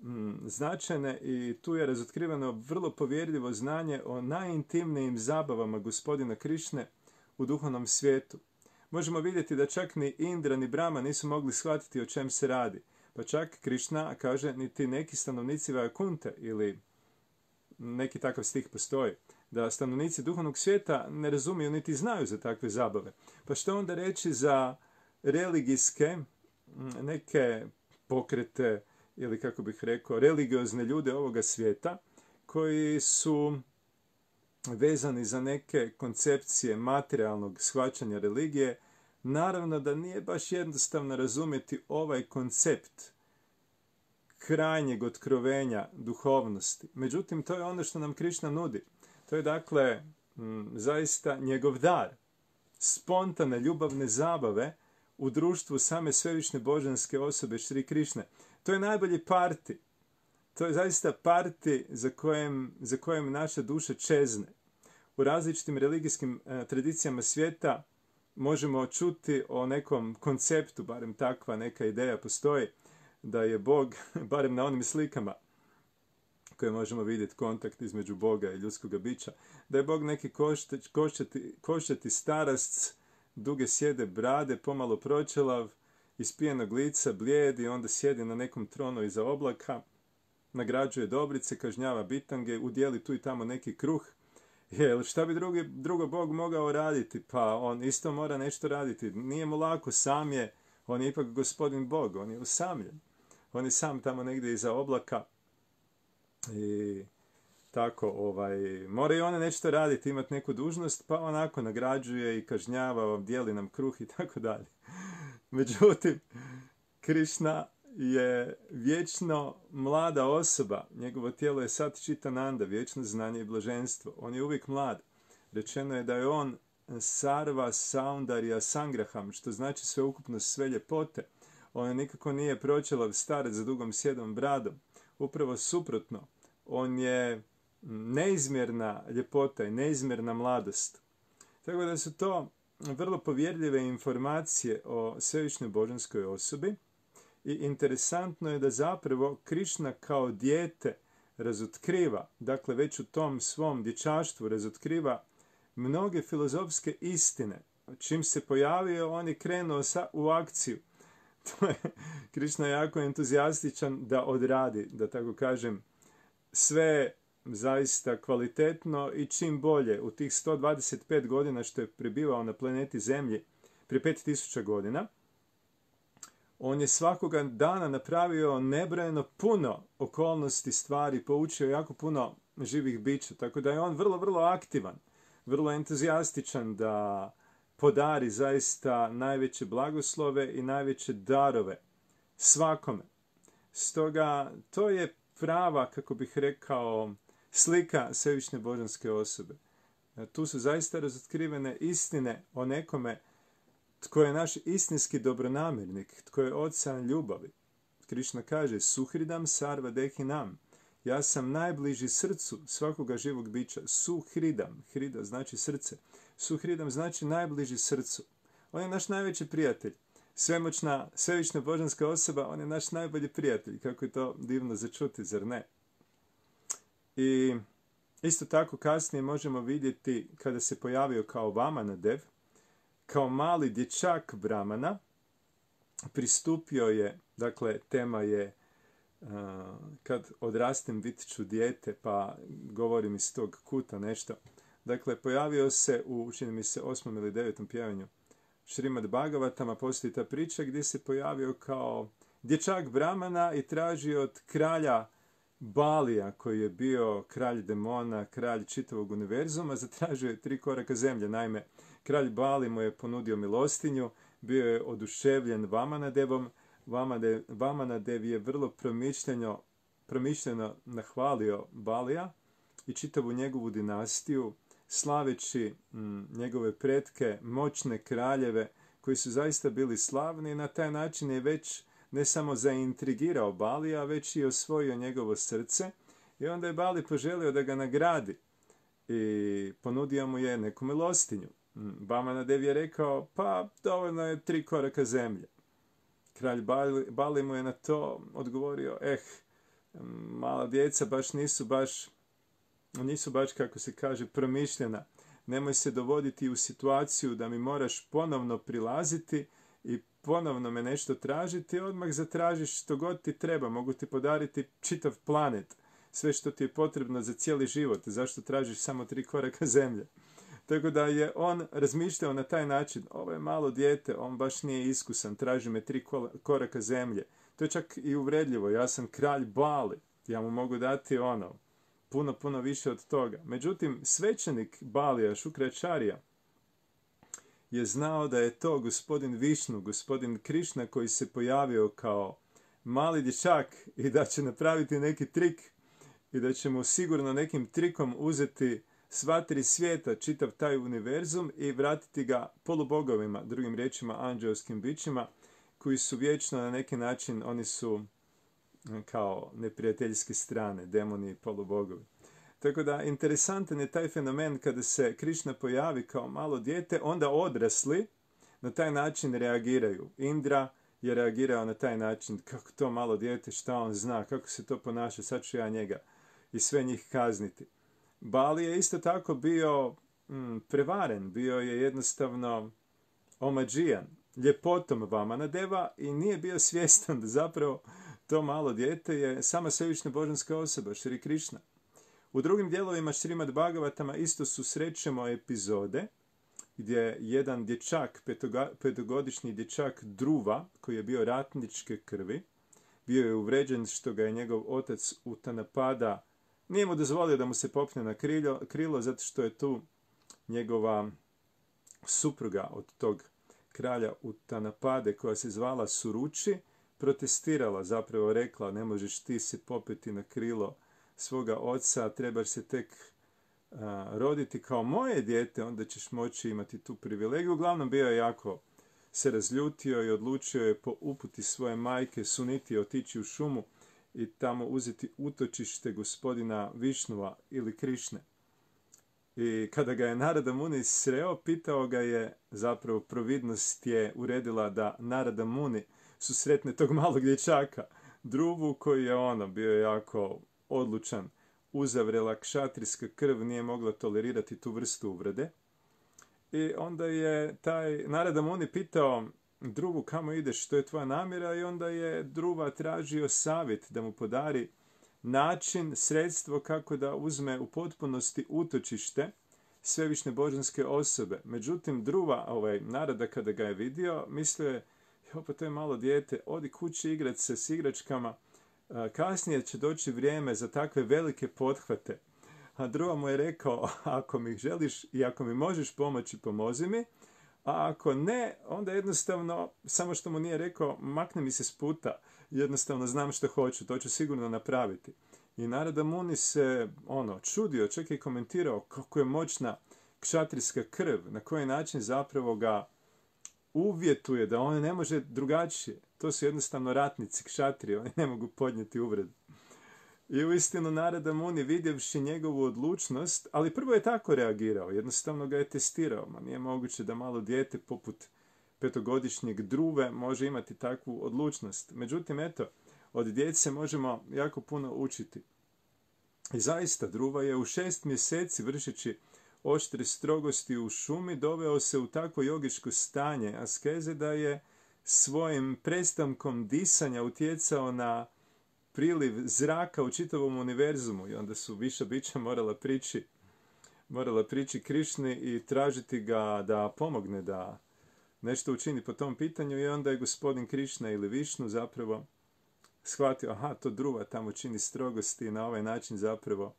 mm, značajne i tu je razotkriveno vrlo povjerljivo znanje o najintimnijim zabavama gospodina Krišne u duhovnom svijetu. Možemo vidjeti da čak ni Indra ni Brahma nisu mogli shvatiti o čem se radi. Pa čak Krišna kaže niti neki stanovnici Vajakunte ili neki takav stih postoji, da stanovnici duhovnog svijeta ne razumiju niti znaju za takve zabave. Pa što onda reći za religijske neke pokrete ili kako bih rekao religiozne ljude ovoga svijeta koji su vezani za neke koncepcije materijalnog shvaćanja religije. Naravno da nije baš jednostavno razumjeti ovaj koncept krajnjeg otkrovenja duhovnosti. Međutim, to je ono što nam Krišna nudi. To je dakle m, zaista njegov dar. Spontane ljubavne zabave u društvu same svevišnje božanske osobe Šri Krišne. To je najbolji parti. To je zaista parti za kojem, za kojem naša duša čezne. U različitim religijskim e, tradicijama svijeta možemo čuti o nekom konceptu, barem takva neka ideja postoji, da je Bog, barem na onim slikama koje možemo vidjeti kontakt između Boga i ljudskog bića, da je Bog neki koštati, koštati, koštati starasc, duge sjede brade, pomalo pročelav, ispijenog lica, blijed i onda sjedi na nekom tronu iza oblaka, nagrađuje dobrice, kažnjava bitange, udjeli tu i tamo neki kruh. Jel, šta bi drugi, drugo Bog mogao raditi? Pa on isto mora nešto raditi. Nije mu lako, sam je, on je ipak gospodin Bog, on je usamljen. On je sam tamo negdje iza oblaka i tako, ovaj, mora i ona nešto raditi, imati neku dužnost, pa onako nagrađuje i kažnjava, dijeli nam kruh i tako dalje. Međutim, Krišna je vječno mlada osoba, njegovo tijelo je sad Čitananda, vječno znanje i blaženstvo. On je uvijek mlad. Rečeno je da je on sarva saundarya sangraham, što znači sveukupnost sve ljepote. On nikako nije pročelav starac za dugom sjedom bradom. Upravo suprotno, on je neizmjerna ljepota i neizmjerna mladost. Tako da su to vrlo povjerljive informacije o svevišnjoj božanskoj osobi. I interesantno je da zapravo Krišna kao dijete razotkriva, dakle već u tom svom dječaštvu razotkriva mnoge filozofske istine. Čim se pojavio, on je krenuo sa, u akciju. To je, Krišna je jako entuzijastičan da odradi, da tako kažem, sve zaista kvalitetno i čim bolje. U tih sto dvadeset pet godina što je prebivao na planeti Zemlji, prije pet tisuća godina, on je svakoga dana napravio nebrojeno puno okolnosti, stvari, poučio jako puno živih bića, tako da je on vrlo, vrlo aktivan, vrlo entuzijastičan da podari zaista najveće blagoslove i najveće darove svakome. Stoga to je prava, kako bih rekao, slika svevišnje božanske osobe. Tu su zaista razotkrivene istine o nekome tko je naš istinski dobronamjernik, tko je ocean ljubavi. Krišna kaže, Suhridam sarva dehinam. Ja sam najbliži srcu svakoga živog bića. Suhridam. Hrida znači srce. Suhridam znači najbliži srcu. On je naš najveći prijatelj. Svemoćna, svevična božanska osoba, on je naš najbolji prijatelj. Kako je to divno začuti, zar ne? I isto tako kasnije možemo vidjeti kada se pojavio kao Vamanadev, kao mali dječak Brahmana, pristupio je, dakle tema je uh, kad odrastem bit ću dijete, pa govorim iz tog kuta nešto. Dakle, pojavio se u, čini mi se, osmom ili devetom pjevanju Šrimad Bhagavatama, postoji ta priča gdje se pojavio kao dječak Brahmana i tražio od kralja Balija, koji je bio kralj demona, kralj čitavog univerzuma, zatražio je tri koraka zemlje. Naime, kralj Bali mu je ponudio milostinju, bio je oduševljen Vamanadevom. Vamanadev, Vamanadev je vrlo promišljeno, promišljeno nahvalio Balija i čitavu njegovu dinastiju, slaveći m, njegove pretke, moćne kraljeve, koji su zaista bili slavni, i na taj način je već ne samo zaintrigirao Balija, već i osvojio njegovo srce. I onda je Bali poželio da ga nagradi i ponudio mu je neku milostinju. Vamanadev je rekao, pa dovoljno je tri koraka zemlje. Kralj Bali, Bali mu je na to odgovorio, eh, mala djeca baš nisu baš, nisu baš, kako se kaže, promišljena. Nemoj se dovoditi u situaciju da mi moraš ponovno prilaziti i ponovno me nešto tražiti, odmah zatražiš što god ti treba, mogu ti podariti čitav planet, sve što ti je potrebno za cijeli život, zašto tražiš samo tri koraka zemlje? Tako da je on razmišljao na taj način, ovo je malo dijete, on baš nije iskusan, traži me tri koraka zemlje. To je čak i uvredljivo, ja sam kralj Bali, ja mu mogu dati ono, puno, puno više od toga. Međutim, svećenik Balija, Šukračarija, je znao da je to gospodin Višnu, gospodin Krišna, koji se pojavio kao mali dječak i da će napraviti neki trik i da će mu sigurno nekim trikom uzeti sva tri svijeta, čitav taj univerzum, i vratiti ga polubogovima, drugim riječima anđelskim bićima, koji su vječno na neki način, oni su kao neprijateljske strane, demoni i polubogovi. Tako da, interesantan je taj fenomen kada se Krišna pojavi kao malo dijete, onda odrasli na taj način reagiraju. Indra je reagirao na taj način, kako to malo dijete, šta on zna, kako se to ponaša, sad ću ja njega i sve njih kazniti. Bali je isto tako bio mm, prevaren, bio je jednostavno omađijan ljepotom Vamanadeva i nije bio svjestan da zapravo to malo dijete je sama svevična božanska osoba, Šri Krišna. U drugim dijelovima Šrimad Bhagavatama isto susrećemo epizode gdje jedan dječak, petoga, petogodišnji dječak Druva, koji je bio ratničke krvi, bio je uvređen što ga je njegov otac Utanapada, nije mu dozvolio da mu se popne na krilo, krilo zato što je tu njegova supruga od tog kralja Utanapade, koja se zvala Suruči, protestirala, zapravo rekla, ne možeš ti se popeti na krilo svoga oca, trebaš se tek a, roditi kao moje dijete, onda ćeš moći imati tu privilegiju. Uglavnom bio je jako se razljutio i odlučio je po uputi svoje majke Suniti otići u šumu i tamo uzeti utočište gospodina Višnua ili Krišne. I kada ga je Narada Muni sreo, pitao ga je, zapravo providnost je uredila da Narada Muni susretne tog malog dječaka, Druvu, koji je ono bio jako odlučan, uzavrela kšatrijska krv, nije mogla tolerirati tu vrstu uvrede. I onda je taj Narada Muni pitao Druvu, kamo ideš, što je tvoja namjera, i onda je Druva tražio savjet da mu podari način, sredstvo kako da uzme u potpunosti utočište svevišnje božanske osobe. Međutim, Druva, ovaj Narada, kada ga je vidio, mislio je, jo, pa to je malo dijete, odi kući igrat se s igračkama, kasnije će doći vrijeme za takve velike pothvate. A Druva mu je rekao, ako mi želiš i ako mi možeš pomoći, pomozi mi, a ako ne, onda jednostavno, samo što mu nije rekao, makne mi se s puta, jednostavno znam što hoću, to ću sigurno napraviti. I Narada Muni se ono čudio, čak i komentirao kako je moćna kšatrijska krv, na koji način zapravo ga uvjetuje da on ne može drugačije. To su jednostavno ratnici, kšatrije, oni ne mogu podnijeti uvredu. I uistinu Narada Muni, vidjevši njegovu odlučnost, ali prvo je tako reagirao, jednostavno ga je testirao. Ma nije moguće da malo dijete poput petogodišnjeg Druve može imati takvu odlučnost. Međutim, eto, od djece možemo jako puno učiti. I zaista, Druva je u šest mjeseci, vršeći oštre strogosti u šumi, doveo se u takvo jogičko stanje askeze da je svojim prestankom disanja utjecao na priliv zraka u čitavom univerzumu i onda su viša bića morala prići, morala prići Krišni i tražiti ga da pomogne, da nešto učini po tom pitanju i onda je gospodin Krišna ili Višnu zapravo shvatio, aha, to Druva tamo čini strogosti i na ovaj način zapravo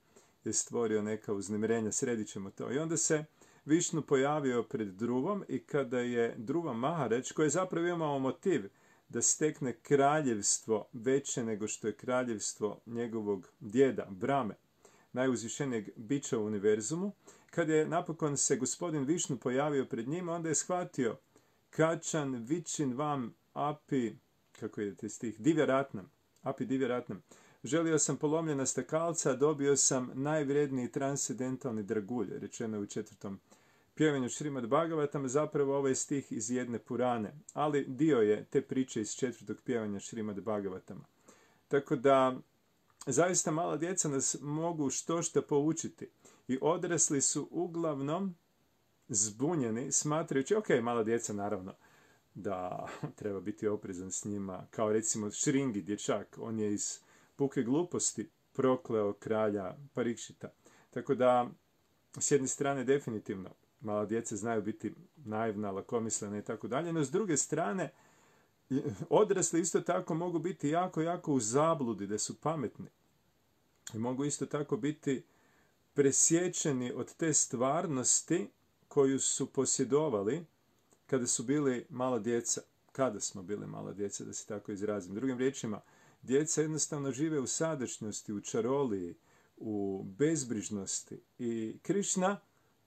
je stvorio neka uznemirenja, sredit ćemo to. I onda se Višnu pojavio pred Druvom i kada je Druva Maharać, koji je zapravo imao motiv da stekne kraljevstvo veće nego što je kraljevstvo njegovog djeda, Brame, najuzvišenijeg bića u univerzumu, kad je napokon se gospodin Višnu pojavio pred njima, onda je shvatio Kačan vičin vam api, kako idete stih, divjaratnam, api divjaratnam. Želio sam polomljena stakalca, a dobio sam najvredniji transcendentalni dragulj, rečeno je u četvrtom pjevanju Šrimad Bhagavatam, zapravo ovaj stih iz jedne Purane, ali dio je te priče iz četvrtog pjevanja Šrimad Bhagavatama. Tako da, zaista mala djeca nas mogu što što poučiti i odrasli su uglavnom zbunjeni, smatrajući, ok, mala djeca naravno, da treba biti oprezan s njima, kao recimo Šringi, dječak, on je iz puke gluposti prokleo kralja Parikšita. Tako da, s jedne strane, definitivno, mala djeca znaju biti naivna, lakomislena i tako dalje, no s druge strane, odrasli isto tako mogu biti jako, jako u zabludi, da su pametni. I mogu isto tako biti presječeni od te stvarnosti koju su posjedovali kada su bili mala djeca. Kada smo bili mala djeca, da se tako izrazim. Drugim riječima, djeca jednostavno žive u sadašnjosti, u čaroliji, u bezbrižnosti. I Krišna,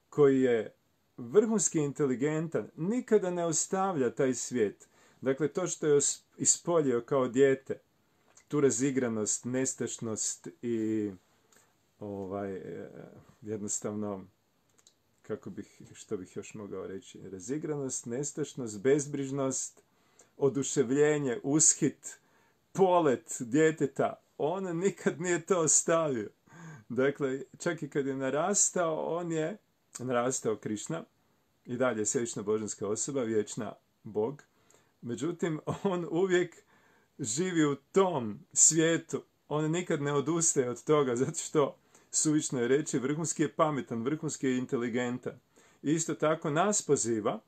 koji je vrhunski inteligentan, nikada ne ostavlja taj svijet. Dakle, to što je ispoljio kao dijete, tu razigranost, nestašnost i ovaj, jednostavno, kako bih, što bih još mogao reći, razigranost, nestašnost, bezbrižnost, oduševljenje, ushit, polet djeteta, on nikad nije to ostavio. Dakle, čak i kad je narastao, on je narastao Krišna, i dalje je svevična božanska osoba, vječna Bog. Međutim, on uvijek živi u tom svijetu. On nikad ne odustaje od toga, zato što, suvišno je reći, vrhunski je pametan, vrhunski je inteligentan. I isto tako nas poziva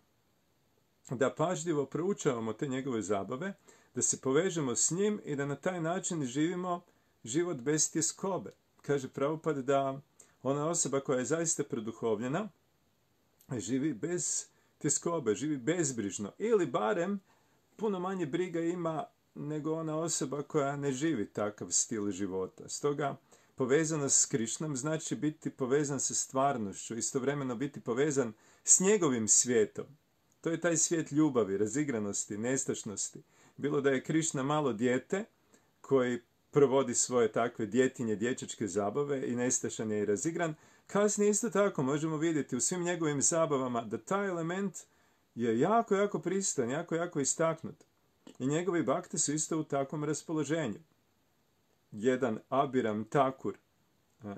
da pažljivo proučavamo te njegove zabave, da se povežemo s njim i da na taj način živimo život bez tjeskobe. Kaže Prabhupada da ona osoba koja je zaista produhovljena živi bez tjeskobe, živi bezbrižno. Ili barem puno manje briga ima nego ona osoba koja ne živi takav stil života. Stoga povezanost s Krišnom znači biti povezan sa stvarnošću, istovremeno biti povezan s njegovim svijetom. To je taj svijet ljubavi, razigranosti, nestašnosti. Bilo da je Krišna malo dijete koji provodi svoje takve djetinje, dječačke zabave i nestašan je i razigran, kasnije isto tako možemo vidjeti u svim njegovim zabavama da taj element je jako, jako pristan, jako, jako istaknut. I njegovi bakte su isto u takvom raspoloženju. Jedan Abiram Takur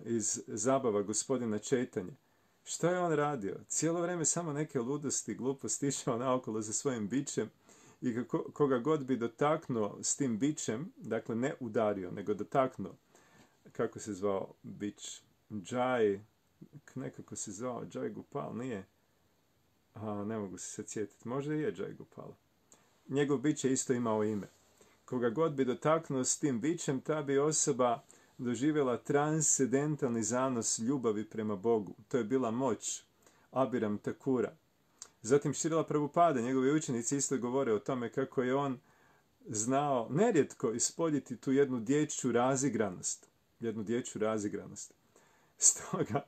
iz zabava gospodina Čejtanje. Što je on radio? Cijelo vrijeme samo neke ludosti, gluposti, išao naokolo za svojim bićem i koga god bi dotaknuo s tim bićem, dakle ne udario, nego dotaknuo, kako se zvao bić? Džaj, nekako se zvao Džaj Gopal, nije? A, ne mogu se sad sjetiti, možda je Džaj Gopal. Njegov bić je isto imao ime. Koga god bi dotaknuo s tim bićem, ta bi osoba doživjela transcendentalni zanos ljubavi prema Bogu. To je bila moć Abiram Takura. Zatim Šrila Prabhupada, njegovi učenici isto govore o tome kako je on znao nerijetko ispoljiti tu jednu dječju razigranost. Jednu dječju razigranost. Stoga,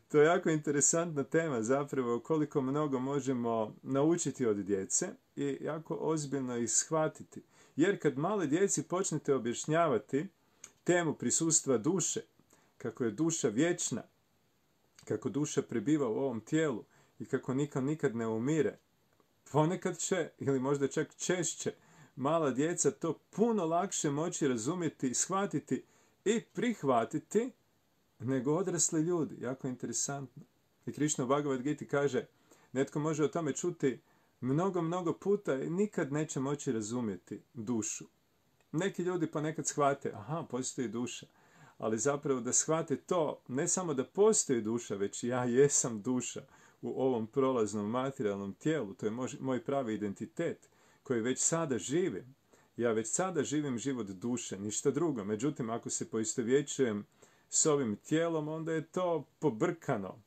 to je jako interesantna tema zapravo koliko mnogo možemo naučiti od djece i jako ozbiljno ih shvatiti. Jer kad male djeci počnete objašnjavati temu prisustva duše, kako je duša vječna, kako duša prebiva u ovom tijelu i kako nikad nikad ne umire, ponekad će, ili možda čak češće, mala djeca to puno lakše moći razumjeti, shvatiti i prihvatiti nego odrasli ljudi. Jako interesantno. I Krišna u Bhagavad Giti kaže, netko može o tome čuti mnogo, mnogo puta i nikad neće moći razumjeti dušu. Neki ljudi ponekad shvate, aha, postoji duša. Ali zapravo da shvate to, ne samo da postoji duša, već ja jesam duša u ovom prolaznom materijalnom tijelu. To je moj pravi identitet koji već sada živim. Ja već sada živim život duše, ništa drugo. Međutim, ako se poistovjećujem s ovim tijelom, onda je to pobrkano.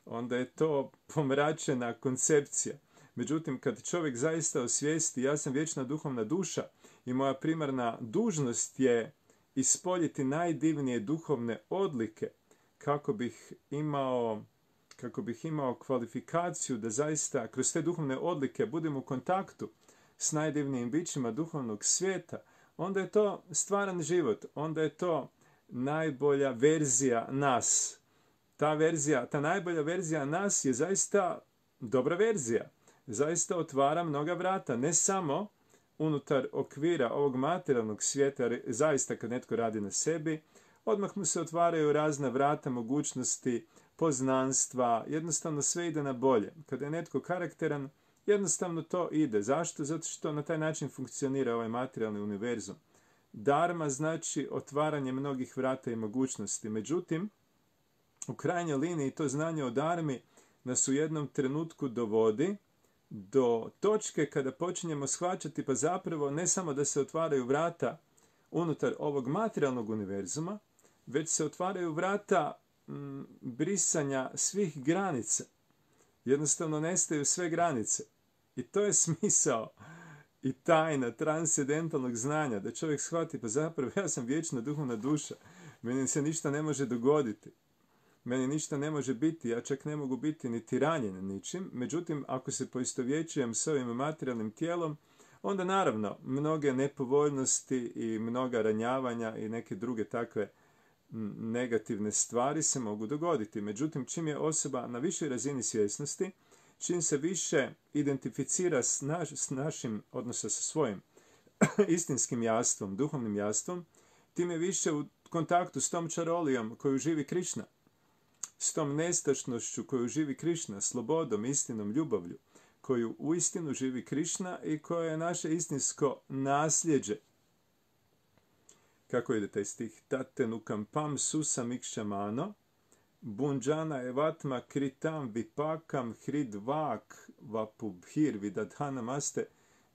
Onda je to pomračena koncepcija. Međutim, kad čovjek zaista osvijesti, ja sam vječna duhovna duša i moja primarna dužnost je ispoljiti najdivnije duhovne odlike kako bih imao, kako bih imao kvalifikaciju da zaista kroz te duhovne odlike budem u kontaktu s najdivnijim bićima duhovnog svijeta, onda je to stvaran život, onda je to najbolja verzija nas. Ta verzija, ta najbolja verzija nas je zaista dobra verzija. Zaista otvara mnoga vrata, ne samo unutar okvira ovog materijalnog svijeta, jer zaista kad netko radi na sebi, odmah mu se otvaraju razna vrata, mogućnosti, poznanstva, jednostavno sve ide na bolje. Kada je netko karakteran, jednostavno to ide. Zašto? Zato što na taj način funkcionira ovaj materijalni univerzum. Dharma znači otvaranje mnogih vrata i mogućnosti. Međutim, u krajnjoj liniji to znanje o dharmi nas u jednom trenutku dovodi do točke kada počinjemo shvaćati pa zapravo ne samo da se otvaraju vrata unutar ovog materijalnog univerzuma, već se otvaraju vrata m, brisanja svih granica. Jednostavno nestaju sve granice. I to je smisao i tajna transcendentalnog znanja, da čovjek shvati pa zapravo ja sam vječna duhovna duša, meni se ništa ne može dogoditi. Meni ništa ne može biti, ja čak ne mogu biti niti ranjen ničim. Međutim, ako se poistovjećujem s ovim materijalnim tijelom, onda naravno mnoge nepovoljnosti i mnoga ranjavanja i neke druge takve negativne stvari se mogu dogoditi. Međutim, čim je osoba na višoj razini svjesnosti, čim se više identificira s, naš, s našim, odnosno sa svojim istinskim jastvom, duhovnim jastvom, tim je više u kontaktu s tom čarolijom koju živi Krišna, s tom nestašnošću koju živi Krišna, slobodom, istinom, ljubavlju, koju uistinu živi Krišna i koja je naše istinsko nasljeđe. Kako ide taj stih? Tatenukam pam susam ikšamano, bunđana evatma kritam vipakam hridvak vapubhir vidadhanamaste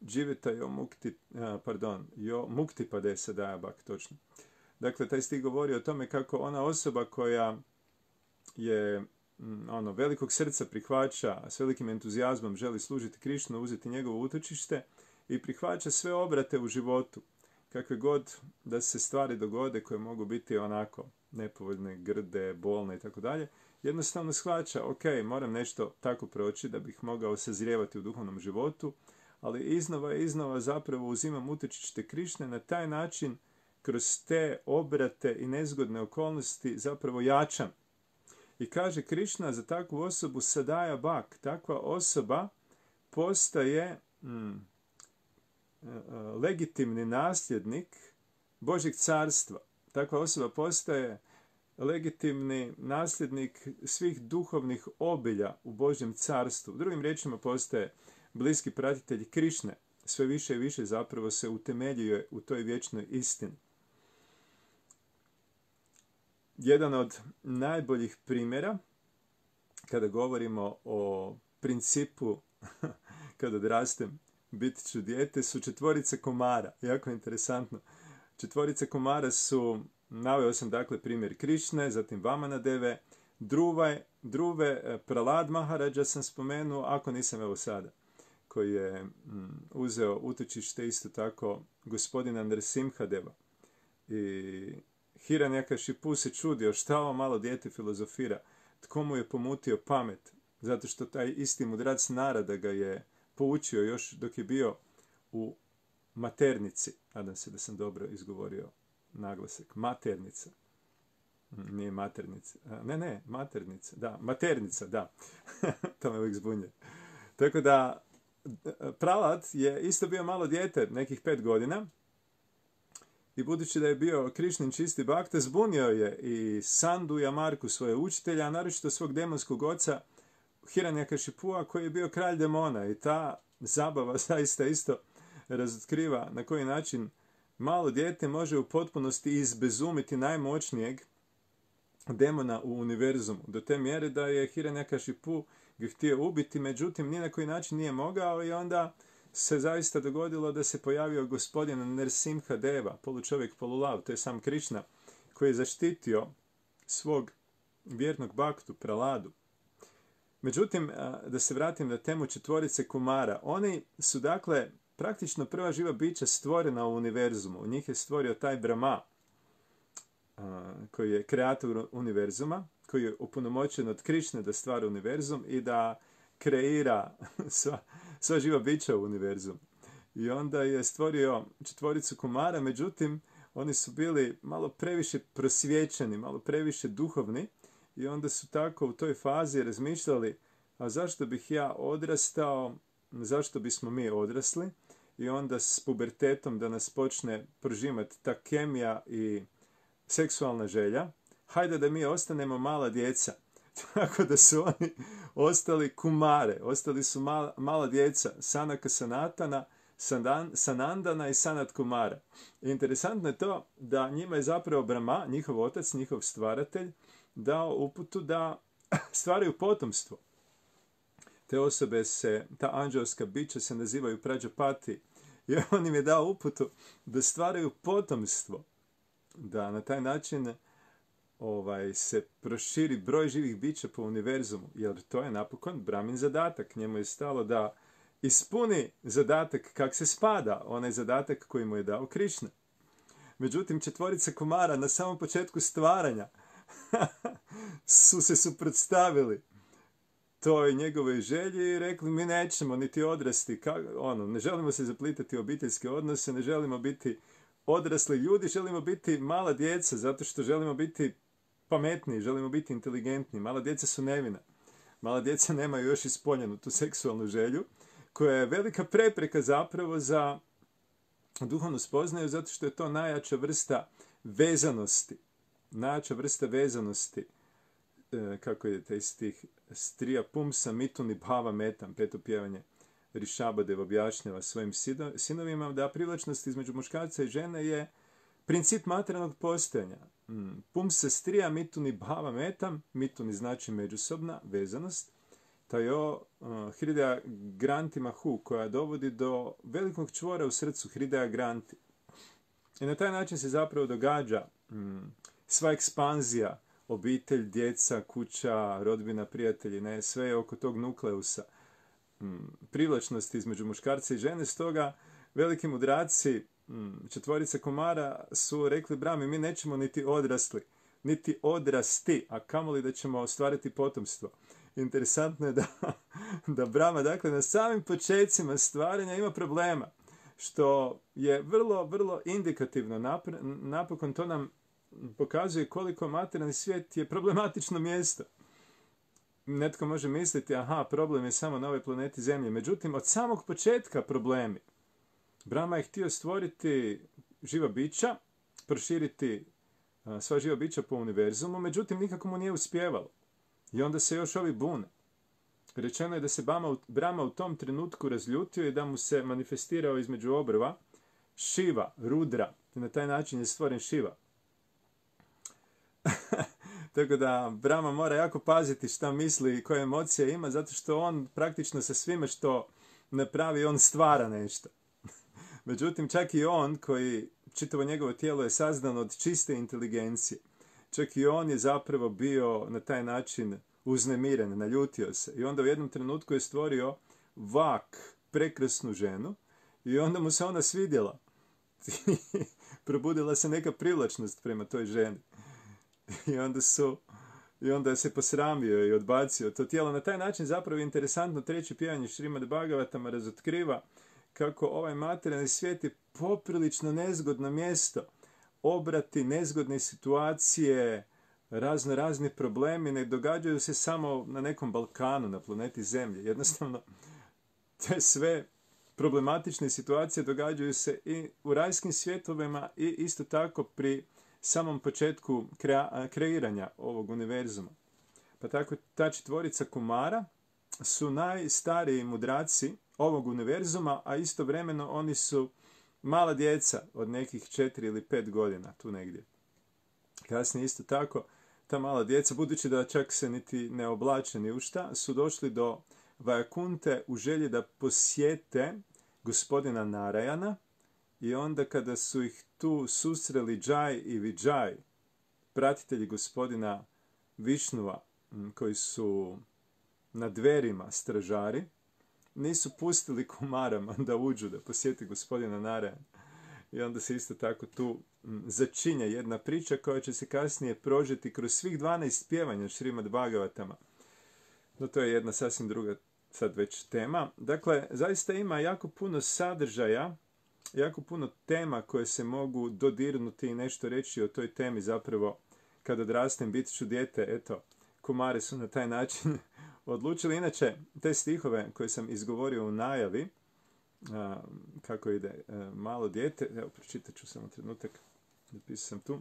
dživeta jo mukti, pardon, jo mukti padesa dajabak, točno. Dakle, taj stih govori o tome kako ona osoba koja je ono, velikog srca prihvaća, s velikim entuzijazmom želi služiti Krišnu, uzeti njegovo utočište i prihvaća sve obrate u životu, kakve god da se stvari dogode koje mogu biti onako nepovoljne, grde, bolne i tako dalje, jednostavno shvaća, ok, moram nešto tako proći da bih mogao sazrijevati u duhovnom životu, ali iznova i iznova zapravo uzimam utočište Krišne, na taj način kroz te obrate i nezgodne okolnosti zapravo jačam. I kaže Krišna za takvu osobu sadaja bak. Takva osoba postaje mm, legitimni nasljednik Božjeg carstva. Takva osoba postaje legitimni nasljednik svih duhovnih obilja u Božjem carstvu. U drugim riječima postaje bliski pratitelj Krišne. Sve više i više zapravo se utemeljuje u toj vječnoj istini. Jedan od najboljih primjera kada govorimo o principu kada odrastem bit ću dijete su četvorice komara. Jako interesantno. Četvorice komara su, naveo sam dakle primjer Krišne, zatim Vamanadeve, Druve, Druve Pralad Maharađa sam spomenuo, ako nisam evo sada, koji je mm, uzeo utočište isto tako gospodina Nrsimhadeva. I Hiranyakashipu se čudio šta ovo malo dijete filozofira, tko mu je pomutio pamet, zato što taj isti mudrac Narada ga je poučio još dok je bio u maternici. Nadam se da sam dobro izgovorio naglasak. Maternica. Nije maternica. Ne, ne, maternica. Da, maternica, da. To me uvijek zbunje. Tako da, Prahlad je isto bio malo dijete, nekih pet godina. I budući da je bio Krišnin čisti bhakta, zbunio je i Sandu i Amarku, svoje učitelja, a naročito svog demonskog oca Hiranyakashipua, koji je bio kralj demona. I ta zabava zaista isto razotkriva na koji način malo dijete može u potpunosti izbezumiti najmoćnijeg demona u univerzumu. Do te mjere da je Hiranyakashipu ga htio ubiti, međutim ni na koji način nije mogao i onda se zaista dogodilo da se pojavio gospodin Nrsimha Deva, polučovjek polulav, to je sam Krišna, koji je zaštitio svog vjernog bhaktu, Prahladu. Međutim, da se vratim na temu četvorice Kumara, oni su dakle praktično prva živa bića stvorena u univerzumu. U njih je stvorio taj Brahma, koji je kreator univerzuma, koji je opunomoćen od Krišne da stvara univerzum i da kreira sva, sva živa bića u univerzumu. I onda je stvorio četvoricu Kumara, međutim, oni su bili malo previše prosvjećeni, malo previše duhovni i onda su tako u toj fazi razmišljali, a zašto bih ja odrastao, zašto bismo mi odrasli, i onda s pubertetom da nas počne prožimati ta kemija i seksualna želja, hajde da mi ostanemo mala djeca. Tako da su oni ostali kumare, ostali su mala, mala djeca, Sanaka Sanatana, Sandan, Sanandana i Sanat Kumara. I interesantno je to da njima je zapravo Brahma, njihov otac, njihov stvaratelj, dao uputu da stvaraju potomstvo. Te osobe se, ta anđelska bića se nazivaju Prađapati. I on im je dao uputu da stvaraju potomstvo. Da na taj način ovaj, se proširi broj živih bića po univerzumu. Jer to je napokon Brahmin zadatak. Njemu je stalo da ispuni zadatak kak se spada. Onaj zadatak koji mu je dao Krišna. Međutim, četvorica Kumara na samom početku stvaranja su se suprotstavili toj njegovoj želji i rekli mi nećemo niti odrasti, ka, ono, ne želimo se zaplitati u obiteljske odnose, ne želimo biti odrasli ljudi, želimo biti mala djeca zato što želimo biti pametniji, želimo biti inteligentni. Mala djeca su nevina. Mala djeca nemaju još ispoljenu tu seksualnu želju koja je velika prepreka zapravo za duhovnu spoznaju zato što je to najjača vrsta vezanosti. Najjača vrsta vezanosti, kako idete iz tih strija pumsa mituni bhava metam, peto pjevanje Rišabadev objašnjava svojim sinovima da privlačnost između muškarca i žene je princip materijalnog postojanja. Pumsa strija mituni bhava metam, mituni znači međusobna vezanost, tajo uh, Hridaya Granti Mahu, koja dovodi do velikog čvora u srcu, Hridaya Granti. I na taj način se zapravo događa um, sva ekspanzija, obitelj, djeca, kuća, rodbina, prijatelji, ne, sve je oko tog nukleusa um, privlačnosti između muškarca i žene. Stoga veliki mudraci um, četvorica Kumara su rekli Brahmi, mi nećemo niti odrasli, niti odrasti, a kamoli da ćemo ostvariti potomstvo. Interesantno je da, da Brahma, dakle, na samim počecima stvaranja ima problema, što je vrlo, vrlo indikativno. Napr- napokon to nam pokazuje koliko materijalni svijet je problematično mjesto. Netko može misliti, aha, problem je samo na ovoj planeti Zemlje. Međutim, od samog početka problemi. Brahma je htio stvoriti živa bića, proširiti a, sva živa bića po univerzumu, međutim, nikako mu nije uspjevalo. I onda se još ovi bune. Rečeno je da se Brahma u tom trenutku razljutio i da mu se manifestirao između obrva Šiva, Rudra. I na taj način je stvoren Šiva. Tako da Brahma mora jako paziti šta misli i koje emocije ima, zato što on praktično sa svime što napravi, on stvara nešto. Međutim, čak i on, koji čitavo njegovo tijelo je sazdano od čiste inteligencije, čak i on je zapravo bio na taj način uznemiren, naljutio se. I onda u jednom trenutku je stvorio Vak, prekrasnu ženu, i onda mu se ona svidjela. Probudila se neka privlačnost prema toj ženi. I onda su I onda se posramio i odbacio to tijelo. Na taj način zapravo je interesantno treće pjevanje Šrimad Bhagavatama razotkriva kako ovaj materijalni svijet je poprilično nezgodno mjesto. Obrati, nezgodne situacije, razno razni problemi ne događaju se samo na nekom Balkanu, na planeti Zemlji. Jednostavno, te sve problematične situacije događaju se i u rajskim svjetovima i isto tako pri samom početku krea- kreiranja ovog univerzuma. Pa tako ta četvorica Kumara su najstariji mudraci ovog univerzuma, a istovremeno oni su mala djeca od nekih četiri ili pet godina, tu negdje. Kasnije isto tako, ta mala djeca, budući da čak se niti ne oblače ni u šta, su došli do Vajakunte u želji da posjete gospodina Narayana i onda kada su ih tu susreli Jai i Vijay, pratitelji gospodina Višnua, koji su na dverima stražari, nisu pustili Kumarama da uđu, da posjeti gospodina Narayana. I onda se isto tako tu začinja jedna priča koja će se kasnije prožeti kroz svih dvanaest pjevanja Šrimad Bhagavatama. No to je jedna sasvim druga sad već tema. Dakle, zaista ima jako puno sadržaja, jako puno tema koje se mogu dodirnuti i nešto reći o toj temi. Zapravo, kad odrastem, bit ću dijete, eto, Kumari su na taj način odlučili. Inače, te stihove koje sam izgovorio u najavi, a, kako ide a, malo dijete, evo, pročitat ću samo trenutak, napisao sam tu.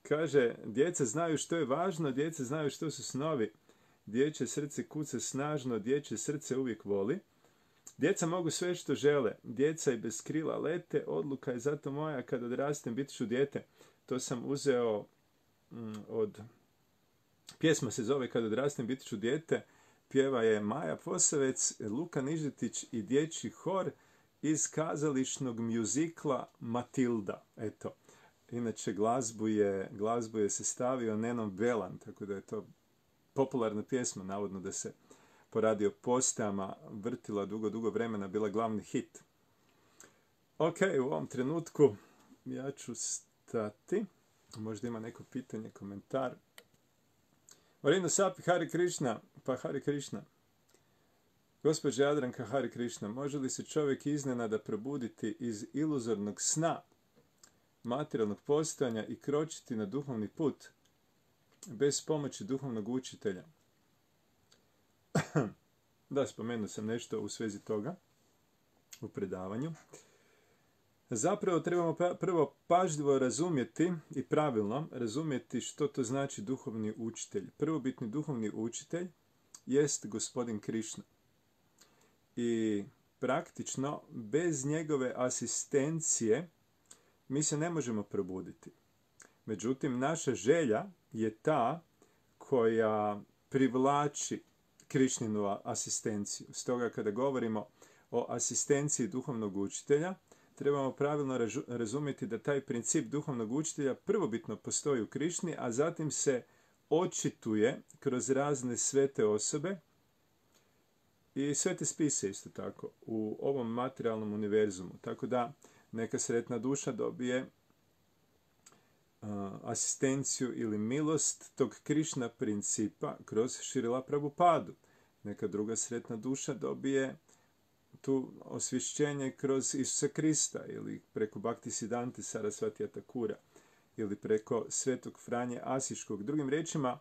Kaže, djeca znaju što je važno, djeca znaju što su snovi, dječje srce kuca snažno, dječje srce uvijek voli. Djeca mogu sve što žele, djeca i bez krila lete, odluka je zato moja, kad odrastem bit ću dijete. To sam uzeo mm, od, pjesma se zove Kad odrastem bit ću dijete, pjeva je Maja Posavec, Luka Nižetić i dječji hor iz kazališnog mjuzikla Matilda. Eto, inače glazbu je, glazbu je sastavio Neno Belan, tako da je to popularna pjesma, navodno da se po radio postajama vrtila dugo, dugo vremena, bila glavni hit. Ok, u ovom trenutku ja ću stati. Možda ima neko pitanje, komentar. Marino Sapi, Hare Krishna, pa Hare Krishna. Gospođa Jadranka, Hare Krishna, može li se čovjek iznenada probuditi iz iluzornog sna materijalnog postojanja i kročiti na duhovni put bez pomoći duhovnog učitelja? Da, spomenuo sam nešto u svezi toga u predavanju. Zapravo trebamo prvo pažljivo razumjeti i pravilno razumjeti što to znači duhovni učitelj. Prvobitni duhovni učitelj jest gospodin Krišna. I praktično bez njegove asistencije mi se ne možemo probuditi. Međutim, naša želja je ta koja privlači Krišninu asistenciju. Stoga kada govorimo o asistenciji duhovnog učitelja, trebamo pravilno razumjeti da taj princip duhovnog učitelja prvobitno postoji u Krišni, a zatim se očituje kroz razne svete osobe i svete spise isto tako u ovom materijalnom univerzumu. Tako da neka sretna duša dobije uh, asistenciju ili milost tog Krišna principa kroz Šrila Prabhupadu. Neka druga sretna duša dobije tu osvješćenje kroz Isusa Krista ili preko Bhakti Siddhante Sarasvatija Thakura ili preko Svetog Franje Asiškog. Drugim riječima,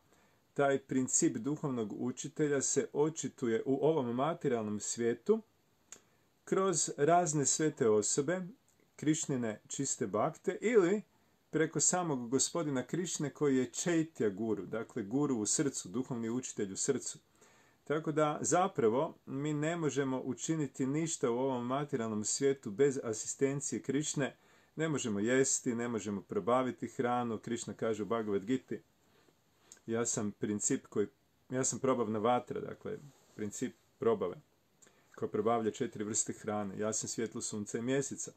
taj princip duhovnog učitelja se očituje u ovom materijalnom svijetu kroz razne svete osobe, Krišnine čiste bakte ili preko samog gospodina Krišne koji je Čaitya guru, dakle guru u srcu, duhovni učitelj u srcu. Tako da zapravo mi ne možemo učiniti ništa u ovom materijalnom svijetu bez asistencije Krišne. Ne možemo jesti, ne možemo probaviti hranu. Krišna kaže u Bhagavad Giti, ja sam princip koji, ja sam probavna vatra, dakle princip probave, koja probavlja četiri vrste hrane. Ja sam svjetlo sunca i mjeseca.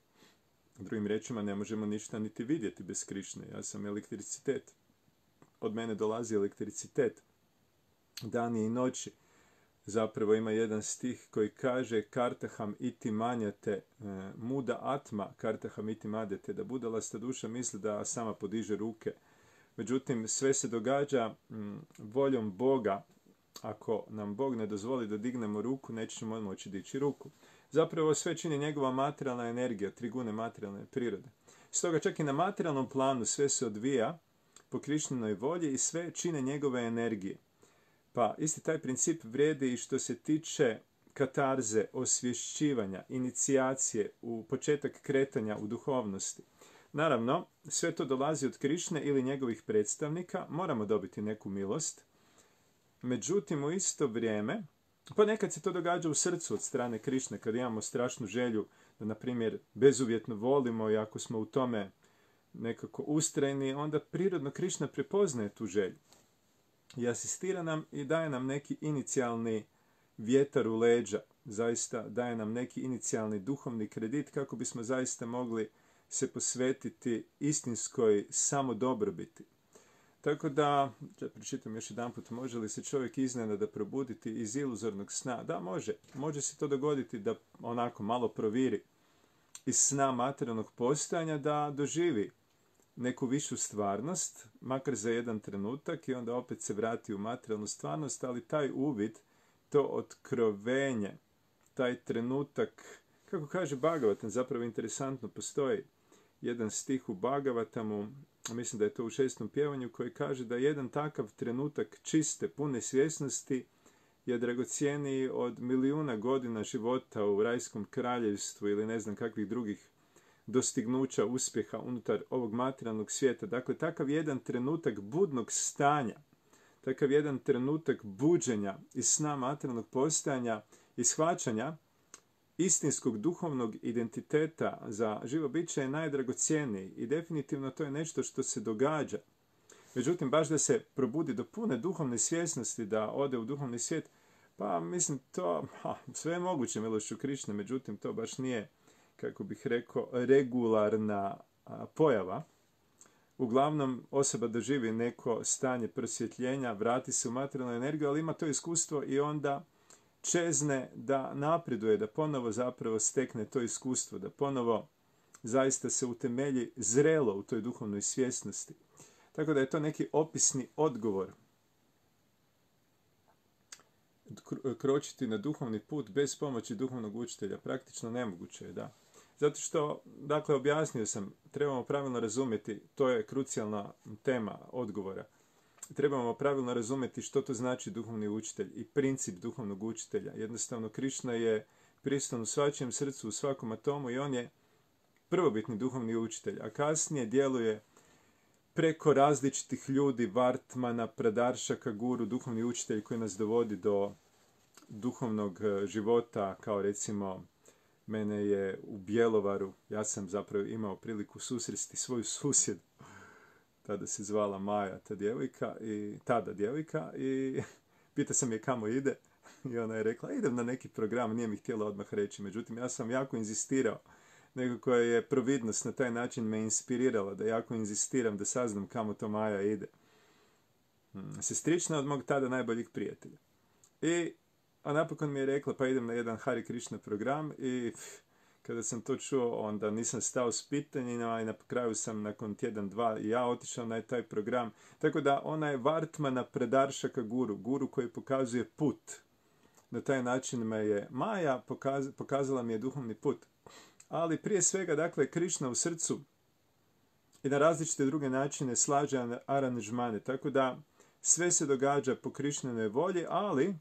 Drugim riječima, ne možemo ništa niti vidjeti bez Krišne. Ja sam elektricitet. Od mene dolazi elektricitet. Dani i noći. Zapravo ima jedan stih koji kaže Kartaham iti manjate, muda atma, kartaham iti madete, da budalasta duša misli da sama podiže ruke Međutim, sve se događa m, voljom Boga. Ako nam Bog ne dozvoli da dignemo ruku, nećemo moći dići ruku. Zapravo sve čini njegova materijalna energija, trigune materijalne prirode. Stoga čak i na materijalnom planu sve se odvija po Krišninoj volji i sve čine njegove energije. Pa isti taj princip vrijedi i što se tiče katarze, osvješćivanja, inicijacije, u početak kretanja u duhovnosti. Naravno, sve to dolazi od Krišne ili njegovih predstavnika, moramo dobiti neku milost. Međutim, u isto vrijeme, pa nekad se to događa u srcu od strane Krišne, kad imamo strašnu želju da, na primjer, bezuvjetno volimo i ako smo u tome nekako ustrajni, onda prirodno Krišna prepoznaje tu želju i asistira nam i daje nam neki inicijalni vjetar u leđa, zaista daje nam neki inicijalni duhovni kredit kako bismo zaista mogli se posvetiti istinskoj samodobrobiti. Tako da, da pročitam još jedan put, može li se čovjek iznenada probuditi iz iluzornog sna? Da, može. Može se to dogoditi da onako malo proviri iz sna materijalnog postojanja, da doživi neku višu stvarnost, makar za jedan trenutak, i onda opet se vrati u materijalnu stvarnost, ali taj uvid, to otkrovenje, taj trenutak, kako kaže Bhagavatam, zapravo interesantno, postoji jedan stih u Bhagavatamu, mislim da je to u šestom pjevanju, koji kaže da jedan takav trenutak čiste, pune svjesnosti je dragocjeniji od milijuna godina života u rajskom kraljevstvu ili ne znam kakvih drugih dostignuća, uspjeha unutar ovog materijalnog svijeta. Dakle, takav jedan trenutak budnog stanja, takav jedan trenutak buđenja iz sna materijalnog postojanja i shvaćanja istinskog duhovnog identiteta za živo biće je najdragocjeniji i definitivno to je nešto što se događa. Međutim, baš da se probudi do pune duhovne svjesnosti, da ode u duhovni svijet, pa mislim to, ha, sve je moguće milošću Krišne, međutim to baš nije, kako bih rekao, regularna a, pojava. Uglavnom, osoba doživi neko stanje prosvjetljenja, vrati se u materijalnu energiju, ali ima to iskustvo i onda čezne da napreduje, da ponovo zapravo stekne to iskustvo, da ponovo zaista se utemelji zrelo u toj duhovnoj svjesnosti. Tako da je to neki opisni odgovor. Kročiti na duhovni put bez pomoći duhovnog učitelja praktično nemoguće je, da. Zato što, dakle, objasnio sam, trebamo pravilno razumjeti, to je krucijalna tema odgovora. Trebamo pravilno razumjeti što to znači duhovni učitelj i princip duhovnog učitelja. Jednostavno, Krišna je prisutan u svačijem srcu, u svakom atomu i on je prvobitni duhovni učitelj, a kasnije djeluje preko različitih ljudi, Vartmana, Pradaršaka, Guru, duhovni učitelj koji nas dovodi do duhovnog života, kao recimo mene je u Bjelovaru, ja sam zapravo imao priliku susresti svoju susjedu, tada se zvala Maja, ta djevojka, i tada djevojka, i pita sam je kamo ide, i ona je rekla, idem na neki program, nije mi htjela odmah reći, međutim ja sam jako inzistirao, nekako je providnost na taj način me inspirirala, da jako inzistiram da saznam kamo to Maja ide. Sestrična od mog tada najboljih prijatelja. I a napokon mi je rekla, pa idem na jedan Hare Krishna program, i pff, kada sam to čuo, onda nisam stao s pitanjima i na kraju sam nakon tjedan, dva i ja otišao na taj program. Tako da ona je Vartmana Pradaršaka Guru, guru koji pokazuje put. Na taj način me je Maja pokaz, pokazala mi je duhovni put. Ali prije svega, dakle, Krišna u srcu i na različite druge načine slaže aranžmane. Tako da sve se događa po Krišnenoj volji, ali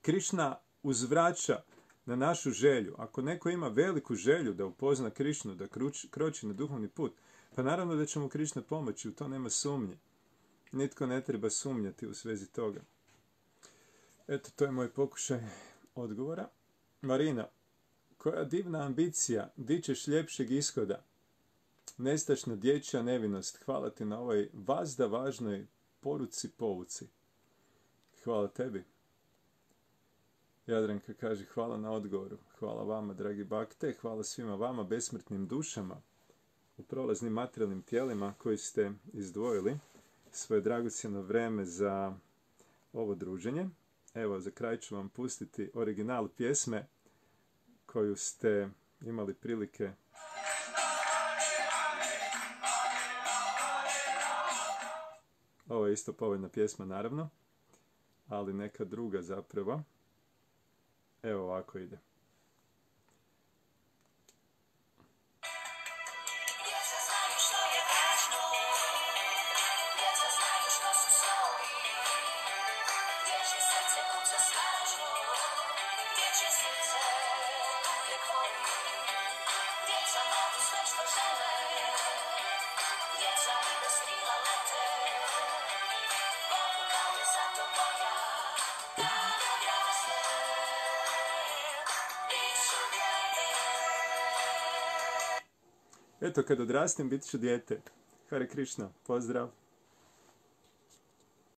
Krišna uzvraća na našu želju. Ako neko ima veliku želju da upozna Krišnu, da kruč, kroči na duhovni put, pa naravno da će mu Krišna pomoći, u to nema sumnje. Nitko ne treba sumnjati u svezi toga. Eto, to je moj pokušaj odgovora. Marina, koja divna ambicija, di ćeš ljepšeg ishoda? Nestašna dječja nevinost, hvala ti na ovoj vazda važnoj poruci, pouci. Hvala tebi. Jadranka kaže, hvala na odgovoru. Hvala vama, dragi bakte, hvala svima vama, besmrtnim dušama, u prolaznim materijalnim tijelima koji ste izdvojili svoje dragocjeno vreme za ovo druženje. Evo, za kraj ću vam pustiti original pjesme koju ste imali prilike Ovo je isto povoljna pjesma, naravno, ali neka druga zapravo. Evo ovako ide. Eto, kad odrastem, bit ću dijete. Hare Krishna, pozdrav!